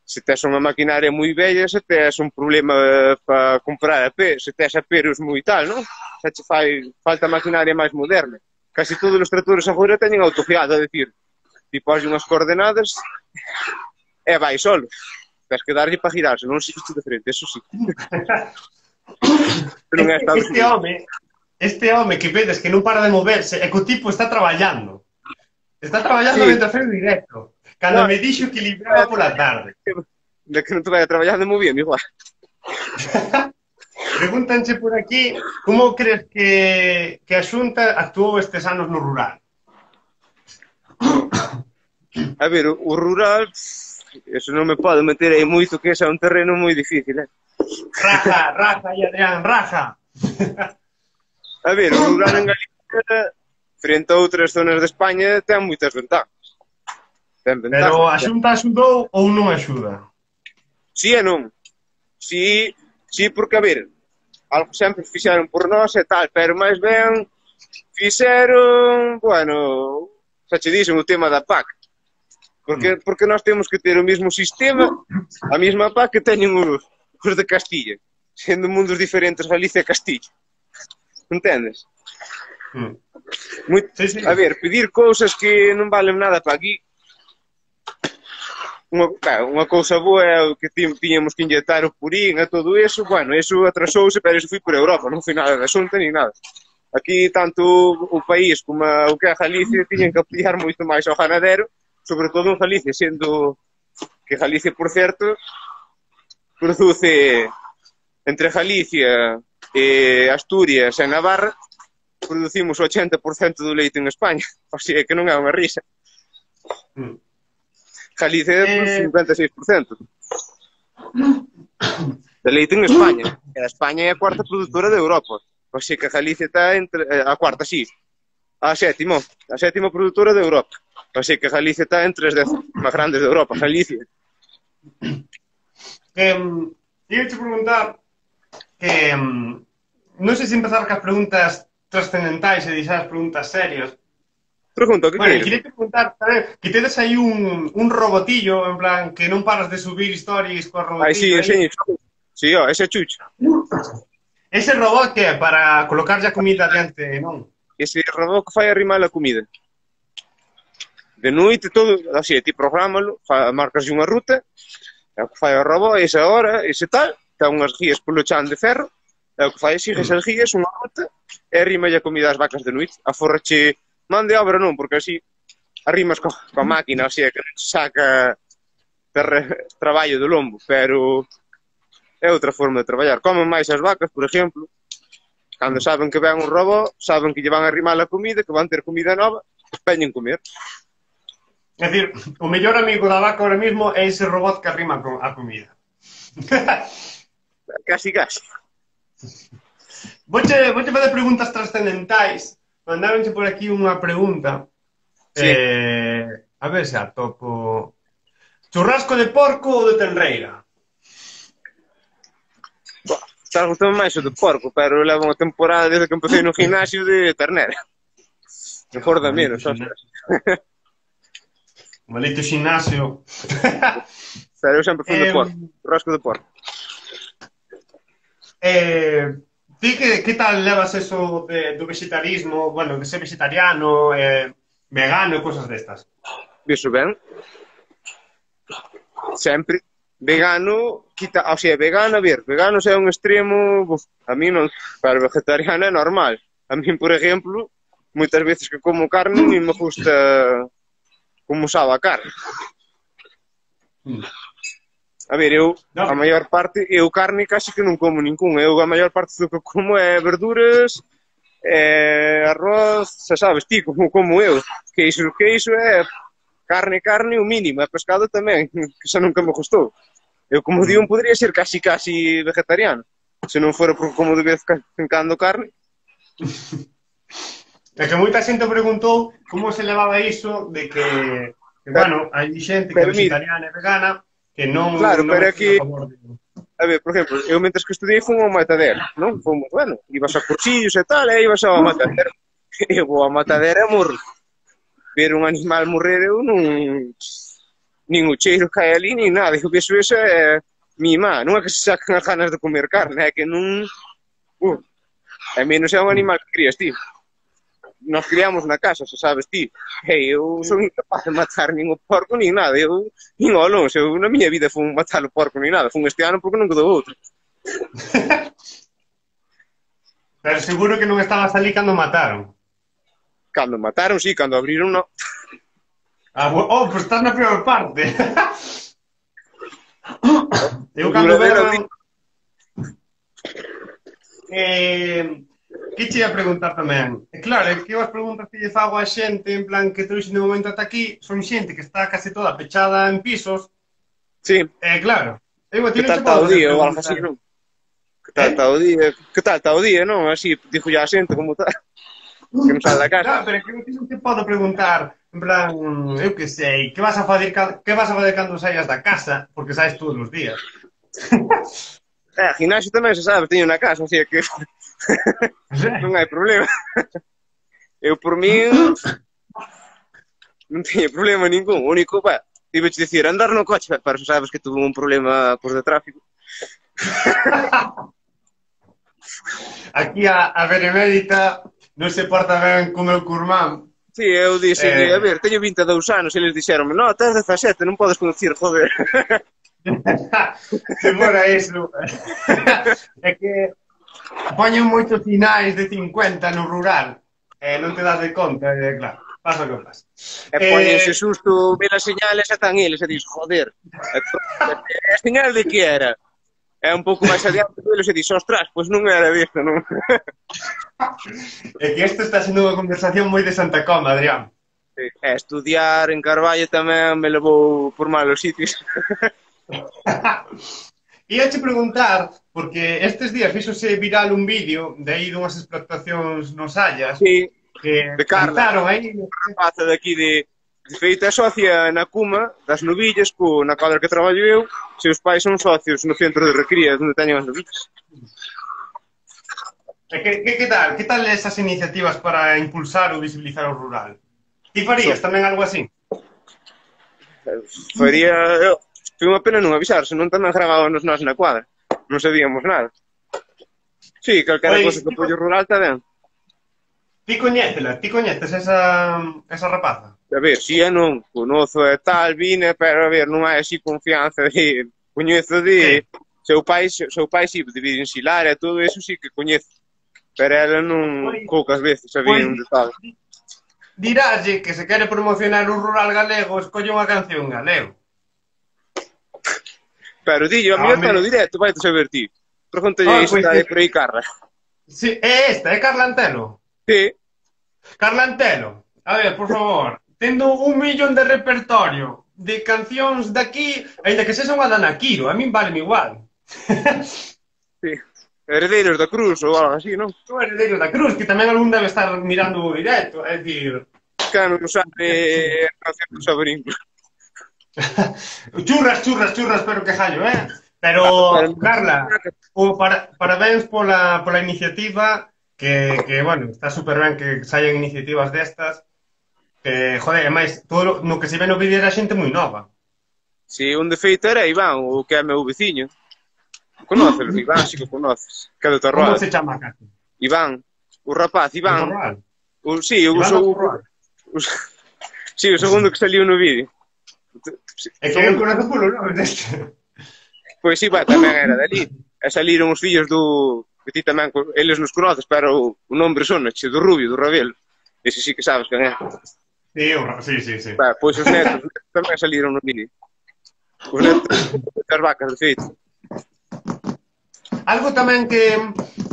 Se tes unha maquinaria moi bella, se tes un problema para comprar a P, se tes aperos moi tal, non? Xa che fai falta maquinaria máis moderna. Casi todos os tractores agora teñen autoguiado, a decir, ti pos unhas coordenadas e vai solo. Tens que darlle para girarse, non se de frente, eso sí. Non é Estados Este Unidos. home, este home que vedes que non para de moverse, é que o tipo está traballando. Está traballando Sí. mentre fai o directo. Cando No. me dixo que libraba pola tarde. De que non te vai a traballar de moi bien, igual. Pregúntanche por aquí como crees que, que a Xunta actuou estes anos no rural? A ver, o, o rural, eso non me pode meter aí moito, que ese é un terreno moi difícil, eh? Raja, raja, y Adrián, raja. A ver, o rural en Galicia, frente a outras zonas de España, ten moitas ventajas. Ten ventajas. Pero a Xunta axudou ou non axuda? Sí e non. Sí, sí, porque, a ver, algo sempre fixeron por nós e tal, pero máis ben fixeron, bueno, xa che dixen o tema da P A C. Porque, porque nós temos que ter o mesmo sistema, a mesma P A C que teñen os, os de Castilla, sendo mundos diferentes Galicia e Castilla. Entendes? Mm. Muy, Sí, sí. A ver, pedir cousas que non valen nada para aquí. Unha, claro, unha cousa boa é o que ti- tiñamos que inyectar o purín e todo eso, bueno, eso atrasouse, pero eso foi por Europa, non foi nada da Xunta ni nada. Aquí, tanto o país como a- o que é Galicia, tiñen que apoiar moito máis ao ganadero, sobre todo en Galicia, sendo que Galicia, por certo, produce entre Galicia, e Asturias e Navarra, producimos o ochenta por cento do leite en España, o sea que non é unha risa. Mm. Galicia é por Eh. cincuenta e seis por cento de leite en España. E a España é a cuarta produtora de Europa. O sea que Galicia está entre... eh, a cuarta, sí. A sétima. A sétima produtora de Europa. O sea que Galicia está entre as dez máis grandes de Europa. Galicia. Que, um, iba te preguntar que um, non sei se empezar cas preguntas trascendentais e deixar as preguntas serias. Pregunta, que Bueno, queres? queria te preguntar tamén que tedes aí un, un robotillo, en plan, que non paras de subir stories co robotillo. Ai, sí, aí. enseño. Sí, ó, ese é Chucho. Ese robot que é para colocar a comida diante, non? Ese robot que fai arrimar a comida. De noite, todo, así, ti prográmalo, fa, marcas unha ruta, é o que fai o robot, esa hora, ese tal, ten unhas guías polo chan de ferro, é o que fai, sigue esas guías, unha ruta, e arrima a comida ás vacas de noite. Aforrache man de obra non, porque así arrimas co, coa máquina, o sea, que non saca terre, traballo do lombo, pero é outra forma de traballar. Comen máis as vacas, por exemplo, cando saben que ven un robot, saben que lle van a arrimar a comida, que van ter comida nova, veñen comer. É dicir, o mellor amigo da vaca ahora mismo é ese robot que arrima co- a comida. Casi, casi. Voche, voche fazer preguntas trascendentais. Mandáronche por aquí unha pregunta. Sí. Eh, a ver se atopo. Churrasco de porco ou de tenreira? Estás gustando máis o de porco, pero levo unha temporada desde que empecé no gimnasio de ternera. Mejor da menos, ostras. Maldito ximnasio. Pero eu sempre fui de Eh, porco, rasco de porco. Eh, ti que, que tal levas eso de, do vegetarismo, bueno, de ser vegetariano, eh, vegano e cosas destas. Viso ben. Sempre. Vegano, quita, o sea, vegano, a ver, vegano é un extremo, buf, a mí non, para vegetariano é normal. A mí, por exemplo, moitas veces que como carne, non me gusta como sabe a carne. Mm. A ver, eu, No. a maior parte, eu carne casi que non como ningún. Eu, a maior parte do que como é verduras, é arroz, xa sabes, ti, como como eu. Queixo, queixo é carne, carne, o mínimo. É pescado tamén, que xa nunca me gustou. Eu, como di, un podría ser casi, casi vegetariano. Se non fora porque como de vez en cando carne. É que moita xente preguntou como se levaba iso de que, que bueno, hai xente que é vegetariana e vegana que non... Claro, non pero aquí, a favor de... a ver, por exemplo, eu mentres que estudei fui ao matadero, non? Fomos, bueno, ibas a cursillos e tal, e ibas ao matadero. Eu vou ao matadero e morro. Ver un animal morrer eu non... Nin o cheiro cae ali, nin nada. Eu penso eso é mima. Non é que se sacan as ganas de comer carne, é que non... Uh, a menos é un animal que crías ti. Nos criamos na casa, xa sabes ti. E eu son incapaz de matar nin o porco nin nada. Eu, nin ao longe, eu na miña vida fun matar o porco nin nada. Fun este ano porque non quedou outro. Pero seguro que non estabas ali cando mataron. Cando mataron, sí, cando abriron, non. Ah, oh, pues estás na peor parte. Eu cando veo... Eh... Que che ia preguntar tamén? E claro, é que as preguntas que lle fago a xente, en plan, que trouxe de momento ata aquí, son xente que está case toda pechada en pisos. Sí. E claro, eu a ti que non tal che está podo o día, facer ou algo así, non? Que tal está o día? Que tal está o día, non? Así, dixo ya a xente como tal. Que non sale da casa. Claro, pero é que eu a ti non te podo preguntar, en plan, eu que sei, que vas a fazer, que vas a fazer cando saias da casa, porque saes todos os días. Eh, gimnasio tamén se sabe, teño na casa, así que non hai problema. Eu por min non teño problema ningún. O único, pá, iba a dicir, andar no coche, pero xa sabes que tuve un problema por de tráfico. Aquí a, a Benemérita non se porta ben co meu curmán. Sí, eu dixen, Eh... a ver, teño vinte e dous anos, e eles dixeronme, no, tes dezasete, non podes conducir, joder. Se fora iso. É que poñen moitos sinais de cincuenta no rural e non te das de conta, e claro, pasa o que pasa. E poñense susto, ve as señales e están eles, e dis, joder, a señal de que era? É un pouco máis adiante deles e dis, ostras, pois non era disto, non? É que isto está sendo unha conversación moi de Santa Coma, Adrián. Sí. E estudiar en Carballo tamén me levou por malos sitios. Ia che preguntar, porque estes días fíxose viral un vídeo de aí dunhas explotacións nos Hallas, sí, que de Carla, cantaron aí... rapaza de aquí de, de feita socia na Cuma, das novillas, co, na cadra que traballo eu, seus pais son socios no centro de recría, onde teñen as novillas. Que, que, que tal? Que tal esas iniciativas para impulsar ou visibilizar o rural? Ti farías so, tamén algo así? Faría... Eu, foi unha pena non avisar, senón tamén gravábamos nós na cuadra. Non sabíamos nada. Sí, calquera cosa que apoio rural está ben. Ti coñétela, ti coñetes esa, esa rapaza? A ver, si é non, conozo e tal, vine, pero a ver, non hai así confianza de... Coñezo de... Sí. Seu pai, seu pai si, de Virensilar e todo eso sí que coñezo. Pero ela non, pues, poucas veces sabía pues, onde estaba. Diraslle que se quere promocionar o rural galego, escolle unha canción galego. Pero dillo, a mí está no directo, vai te saber ti. Pregúntalle oh, isto, pues, está aí por aí Carla. Sí, é esta, é Carla Antelo? Sí. Carla Antelo, a ver, por favor, tendo un millón de repertorio de cancións daqui, ainda que sexa unha Dana Quiro, a min vale igual. Sí. Heredeiros da Cruz ou algo así, non? O Heredeiros da Cruz, que tamén algún debe estar mirando o directo, é dicir... Que non sabe a canción do Saborín. Churras, churras, churras, pero que jallo, eh? Pero, Carla, o para, parabéns pola, pola iniciativa, que, que, bueno, está super ben que saian iniciativas destas, que, joder, e máis, todo no que se ve no vídeo era xente moi nova. Si, un defeito era Iván, o que é meu veciño. Conócelo, Iván, si que conoces. Que é do Torroal. Como se chama, Cati? Iván, o rapaz, Iván. O Torroal? O, sí, eu Iván sou... o, Sí, o segundo que saliu no vídeo. É que eu conozco polo nome deste. Pois sí, va, tamén era dali. E saliron os fillos do... que ti tamén, eles nos conoces, pero o nombre sonache, do Rubio, do Rabelo. Ese sí que sabes quen é. Sí, sí, sí, sí. Va, pois os netos, os netos tamén saliron no vídeo. Os netos das vacas, de feito. Algo tamén que,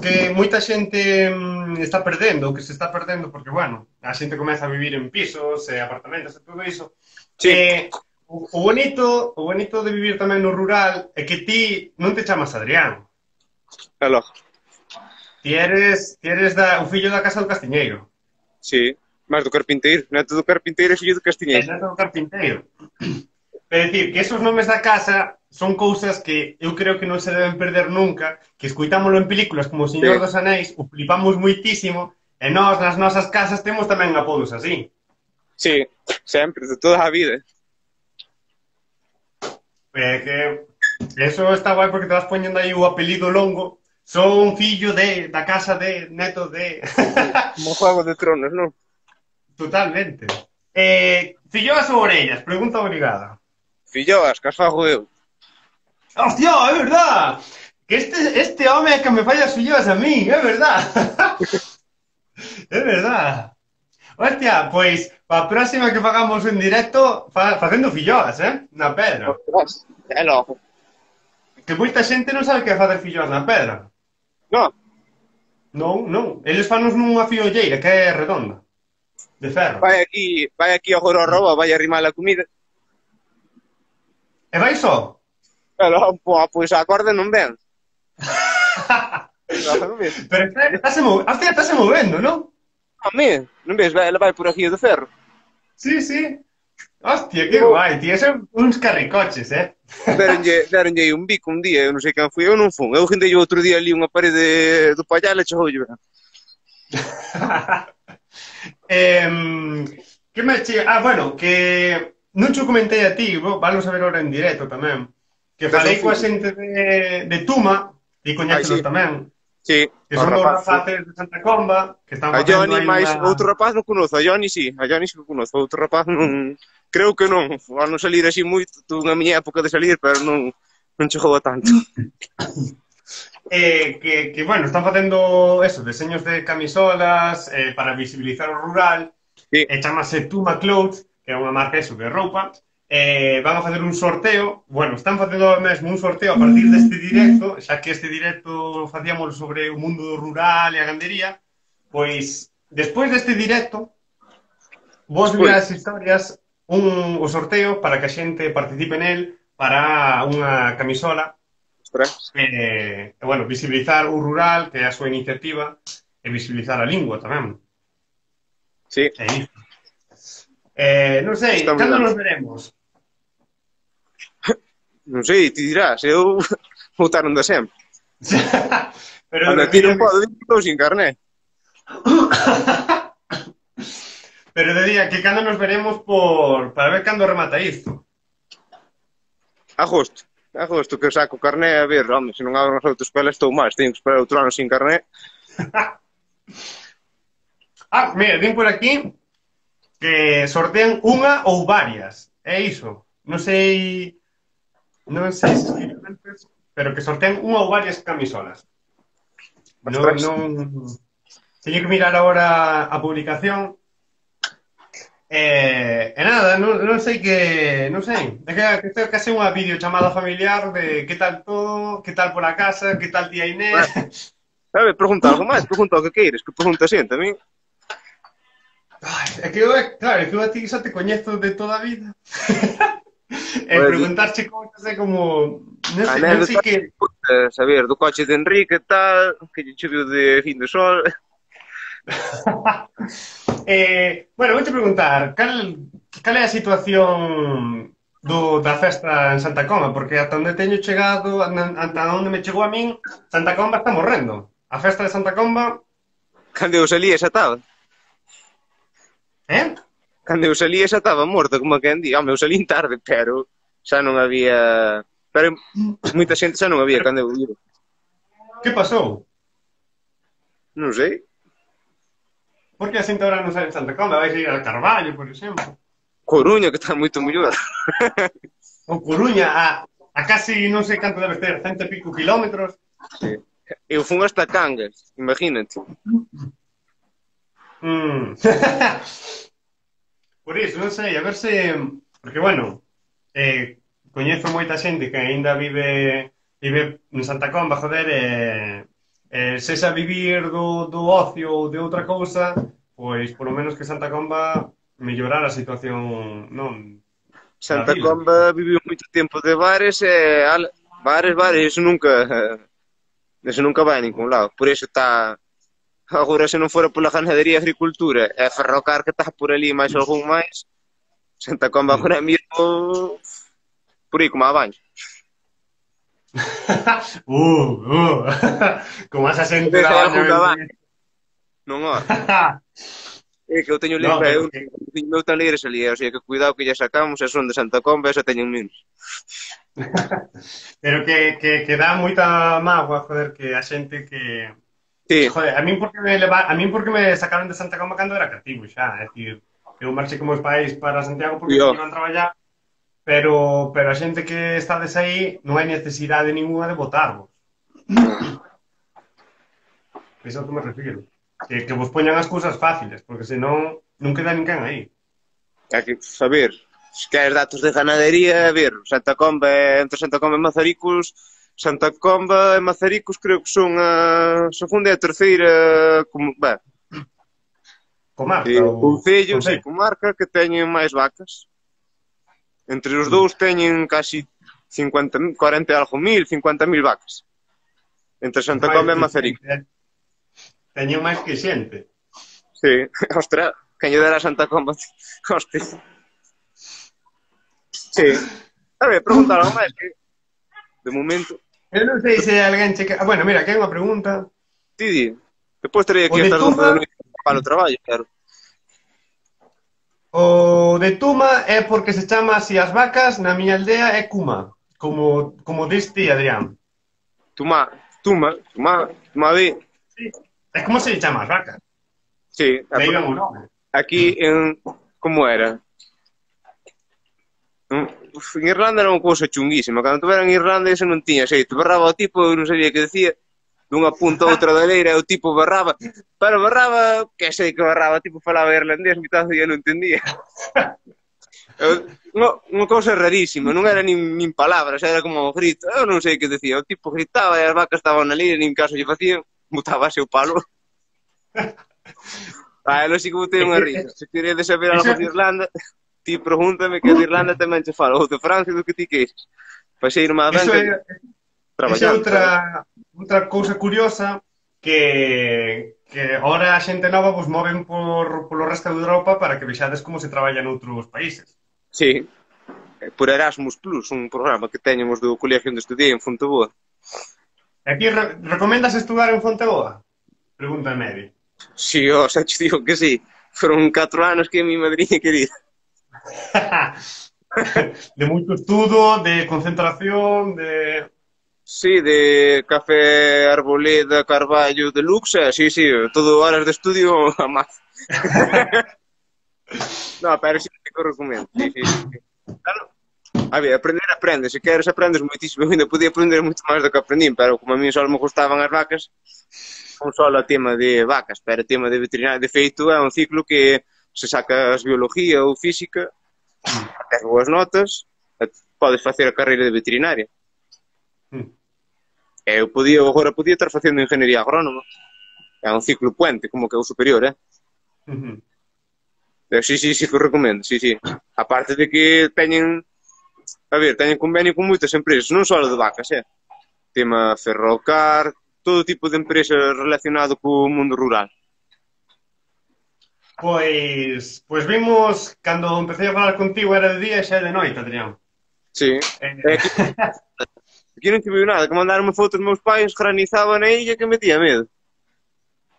que moita xente mm, está perdendo, que se está perdendo, porque, bueno, a xente comeza a vivir en pisos, eh, apartamentos e todo iso. Sí. Eh, o, o bonito o bonito de vivir tamén no rural é que ti non te chamas Adrián. É logo. Ti eres, ti eres da, o fillo da casa do Castiñeiro. Sí, máis do carpinteiro. Neto do carpinteiro e fillo do É castiñeiro. neto do Carpinteiro. É dicir, que esos nomes da casa son cousas que eu creo que non se deben perder nunca, que escuitámoslo en películas como O Señor Sí. dos Anéis, o flipamos moitísimo, e nós nas nosas casas temos tamén apodos así. Sí, sempre, de toda a vida. É que eso está guai porque te vas poñendo aí o apelido longo. Son fillo de, da casa de, neto de... Como Juego de Tronos, non? Totalmente. Eh, filloas ou orellas? Pregunta obrigada. Filloas, que as fago eu. ¡Hostia, é verdad! Que este, este home é que me falla as filloas a mí, é verdad. É verdad. Hostia, pois, pa próxima que fagamos en directo, fa, facendo filloas, eh? Na pedra. Ostras, é logo. Que moita xente non sabe que é facer filloas na pedra. Non, Non, non. Eles fanos nunha fiolleira que é redonda. De ferro. vai aquí, vai aquí agora ao roba, vai arrimar a comida. E vai só? E logo, pois a corda non ven. Non ves? Pero está, está se move... Hostia, está se movendo, non? A mí, non ves? Ela vai por aquí de ferro. Sí, sí. Hostia, que guai, tío. Son uns carricoches, eh? Deronlle, deronlle un bico un día, eu non sei quen foi, eu non fun. Eu guindei outro día ali unha parede do pallal e chegou lle. eh, que me che... Ah, bueno, que non cho comentei a ti, valo saber ahora en directo tamén, que falei coa xente de, de Tuma, e coñécelos Ai, sí. tamén, Sí, que son dos rapaces de Santa Comba, que están a facendo Johnny aí máis unha... outro rapaz non conozo, a Johnny sí, a Johnny sí que conozo, outro rapaz non, creo que non, a non salir así moito, tuve a miña época de salir, pero non, non chegou a tanto. Eh, que, que, bueno, están facendo eso, deseños de camisolas eh, para visibilizar o rural, Sí. e chamase Tuma Clothes, que é unha marca eso de roupa, eh, van a facer un sorteo, bueno, están facendo mesmo un sorteo a partir deste directo, xa que este directo facíamos sobre o mundo rural e a gandería, pois, despois deste directo, vos Despois. ver as historias, un, o sorteo para que a xente participe nel para unha camisola, Ostras. eh, e, bueno, visibilizar o rural, que é a súa iniciativa, e visibilizar a lingua tamén. Sí. É isto. Eh, non sei, Está moi cando ben. nos veremos? Non sei, ti dirás, eu votaron de sempre. Pero Cando ti non podo, estou sin carné. Pero de día, que cando nos veremos por para ver cando remata isto. Agosto. Agosto que eu saco carné, a ver, home, se non abro as autoescolas estou máis, teño que esperar outro ano sin carné. Ah, mira, din por aquí que sortean unha ou varias. É iso. Non sei... Non sei se escriben antes, pero que sortean unha ou varias camisolas. Non, Ostras. non... Teño que mirar agora a publicación. Eh, e nada, non, non sei que... Non sei. É que, que isto é case unha videochamada familiar de que tal todo, que tal por a casa, que tal tía Inés... Sabe, pregunta algo máis, pregunta o que queires, que pregunta xente, a mí. Ai, é que eu, claro, é que eu a ti xa te coñezo de toda a vida. E Pues, preguntarche cousas é como... Non sei, non anécdota, sei que... eh, saber do coche de Enrique e tal, que lle choveu de fin de sol. eh, bueno, vou te preguntar, cal, cal é a situación do, da festa en Santa Comba? Porque ata onde teño chegado, ata onde me chegou a min, Santa Comba está morrendo. A festa de Santa Comba... Cando eu salía xa estaba. Eh? Cando eu salía xa estaba morta, como quen di. Home, eu salín tarde, pero xa non había... Pero moita xente xa non había cando eu iba. Que pasou? Non sei. Por que a xente ahora non sale en Santa Comba? Vais a ir al Carballo, por exemplo. Coruña, que está moito mellor. O Coruña, a, a casi non sei canto debe ter, cento e pico kilómetros. Sí. Eu fun hasta Cangas, imagínate. Mm. Por iso, non sei, a ver se... Porque, bueno, eh, coñezo moita xente que aínda vive vive en Santa Comba, joder, e eh, se xa vivir do, do ocio ou de outra cousa, pois, polo menos que Santa Comba mellorar a situación, non, da Santa vila. Comba viviu moito tempo de bares e al, bares, bares, iso nunca eso nunca vai a ningún lado. Por iso está agora se non fora pola ganadería e agricultura e ferrocar que está por ali máis algún máis, Santa Comba agora mesmo por aí como a baño. uh, uh. Como esa xente da baña. Non, ó. É que eu teño No, limpa, eu que... meu tan ligres ali, o sea, que cuidado que lle sacamos, e son de Santa Comba, e xa teñen menos. Pero que, que, que dá moita mágoa, joder, que a xente que... Sí. Joder, a min porque me leva... a min porque me sacaron de Santa Comba cando era cativo xa, é dicir, eu marchei con meus pais para Santiago porque iban a traballar, pero, pero a xente que estades aí non hai necesidade ninguna de votarvos. Eso é o que me refiro. Que, que vos poñan as cousas fáciles, porque senón non queda ninguén aí. Hai que saber, se queres datos de ganadería, a ver, Santa Comba, entre Santa Comba e Mazaricos, Santa Comba e Mazaricos creo que son a segunda e a terceira, como, ben, comarca, eh, ou... concellos e comarca que teñen máis vacas. Entre os dous teñen casi cincuenta, cuarenta e algo mil, cincuenta mil vacas. Entre Santa Comba e Mazaricos. Teñen máis que xente. Sí, ostra, quen lle dera a Santa Comba. Hostia. Sí. A ver, preguntar algo máis que de momento. Eu non sei se alguén checa... Ah, bueno, mira, que hai unha pregunta. Tidi, depois terei aquí O de estas Tuma... doce de noite para o traballo, claro. O de Tuma é porque se chama así as vacas, na miña aldea é Kuma, como, como diste, Adrián. Tuma, Tuma, Tuma, Tuma B. Sí. É como se chama as vacas. Sí. Leigan o nome. Aquí en... Como era? En Irlanda era unha cousa chunguísima. Cando tu era en Irlanda iso non tiña xeito. Barraba o tipo, eu non sabía que decía, dunha punta a outra da leira, o tipo barraba, pero barraba, que sei que barraba, o tipo falaba irlandés, mitad do día non entendía. Unha cousa rarísima, non era nin, nin palabras, era como o grito, eu non sei que decía, o tipo gritaba e as vacas estaban na leira, nin caso lle facían, botábase o palo. Ah, eu sí que botei unha risa, se queredes saber algo de Irlanda, ti pregúntame que de Irlanda tamén che falo, ou de Francia, do que ti queixes. Pasei irme a banca traballando. Esa é outra, outra cousa curiosa que, que ahora a xente nova vos moven por, polo resto de Europa para que vexades como se traballa noutros países. Sí, por Erasmus Plus, un programa que teñemos do colegio onde estudiei en Fonteboa. E aquí re recomendas estudar en Fonteboa? Pregunta Mary. Si, ó, xa te digo que sí. Foron catro anos que a mi madriña querida. De moito estudo, de concentración, de... Sí, de Café Arboleda, Carballo, de Luxe, sí, sí, todo horas de estudio a máis. No, pero sí que o recomendo, sí, sí, sí. Claro, a ver, aprender aprende, se queres aprendes moitísimo, eu ainda podía aprender moito máis do que aprendín, pero como a mí só me gustaban as vacas, non só o tema de vacas, pero o tema de veterinario, de feito, é un ciclo que se sacas biología ou física, tes boas notas, podes facer a carreira de veterinaria. Eu podía, agora podía estar facendo ingeniería agrónoma. É un ciclo puente, como que é o superior, eh? Uh-huh. Pero sí, sí, sí que o recomendo, sí, sí. A parte de que teñen, a ver, teñen convenio con moitas empresas, non só de vacas, eh? Tema Ferrocar, todo tipo de empresas relacionado co mundo rural. Pois, pois vimos, cando empecé a falar contigo era de día e xa é de noite, Adrián. Sí. Eh... Aquí, aquí non tive nada, que mandaron fotos meus pais, granizaba na illa que metía medo.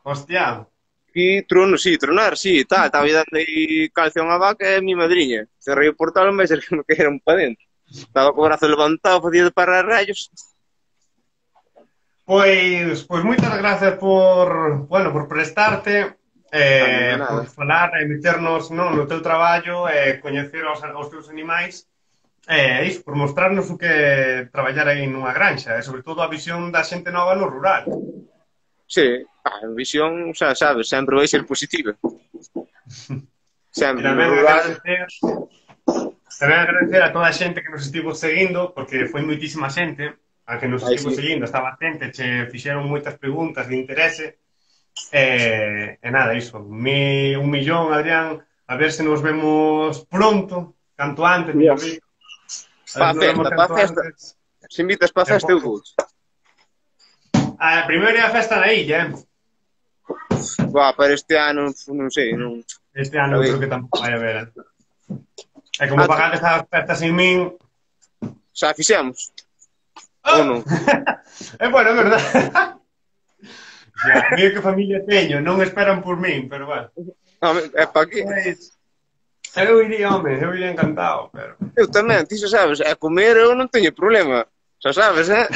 Hostia. Aquí trono, sí, tronar, sí, tal, estaba dando aí calcio a unha vaca e a mi madriña. Cerrei o portal, mas era que me caeron para dentro. Estaba co brazo levantado, facía de parar rayos. Pois, pois moitas gracias por, bueno, por prestarte. eh, nada. por falar e meternos non, no teu traballo e coñecer os, os teus animais e iso, por mostrarnos o que é traballar aí nunha granxa e sobre todo a visión da xente nova no rural. Sí, a visión, xa sabes, sempre vai ser positiva. Sempre, no Tamén rural... agradecer, tamén agradecer a toda a xente que nos estivo seguindo, porque foi moitísima xente a que nos Ai, estivo sí. seguindo, estaba xente, che fixeron moitas preguntas de interese, e, e nada, iso, mi, un millón, Adrián, a ver se nos vemos pronto, canto antes, Yeah. mellor dicho. Pa festa, pa festa. Se invitas pa festa, eu vou. A primeira é a festa na illa, eh? Buah, para este ano, non sei, non... Este ano creo que tampouco vai haber, eh? E como Ah, pagades as festas sin min... Xa fixemos. Oh! Ou non? É bueno, é verdade. Ya, mira que familia teño, non esperan por min, pero bueno. Home, é pa aquí. Pois, eu iría, home, eu iría encantado, pero... Eu tamén, ti xa sabes, é comer eu non teño problema. Xa sabes, eh?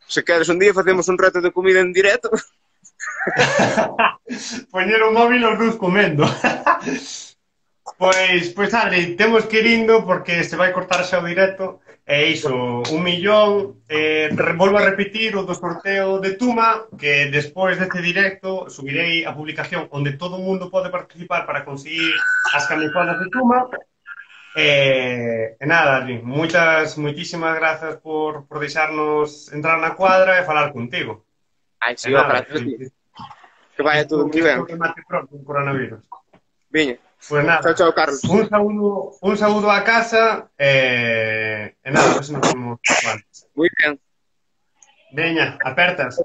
Se queres un día facemos un reto de comida en directo. Poñer o móvil os dous comendo. Pois, pois Adri, temos que ir indo porque se vai cortar xa o directo. E iso, un millón, eh, volvo a repetir o do sorteo de Tuma, que despois deste directo subirei a publicación onde todo o mundo pode participar para conseguir as camisolas de Tuma. E, e nada, Adri, moitas, moitísimas grazas por, por deixarnos entrar na cuadra e falar contigo. Ai, si, E ó, nada, gracias a ti. que- Que vaya todo que moi ben. isto remate pronto o coronavirus. Viña. Pues nada, Chao, chao, Carlos. un saúdo, un saúdo a casa e, e nada, a ver se nos vemos antes. Moi ben. Veña, apertas.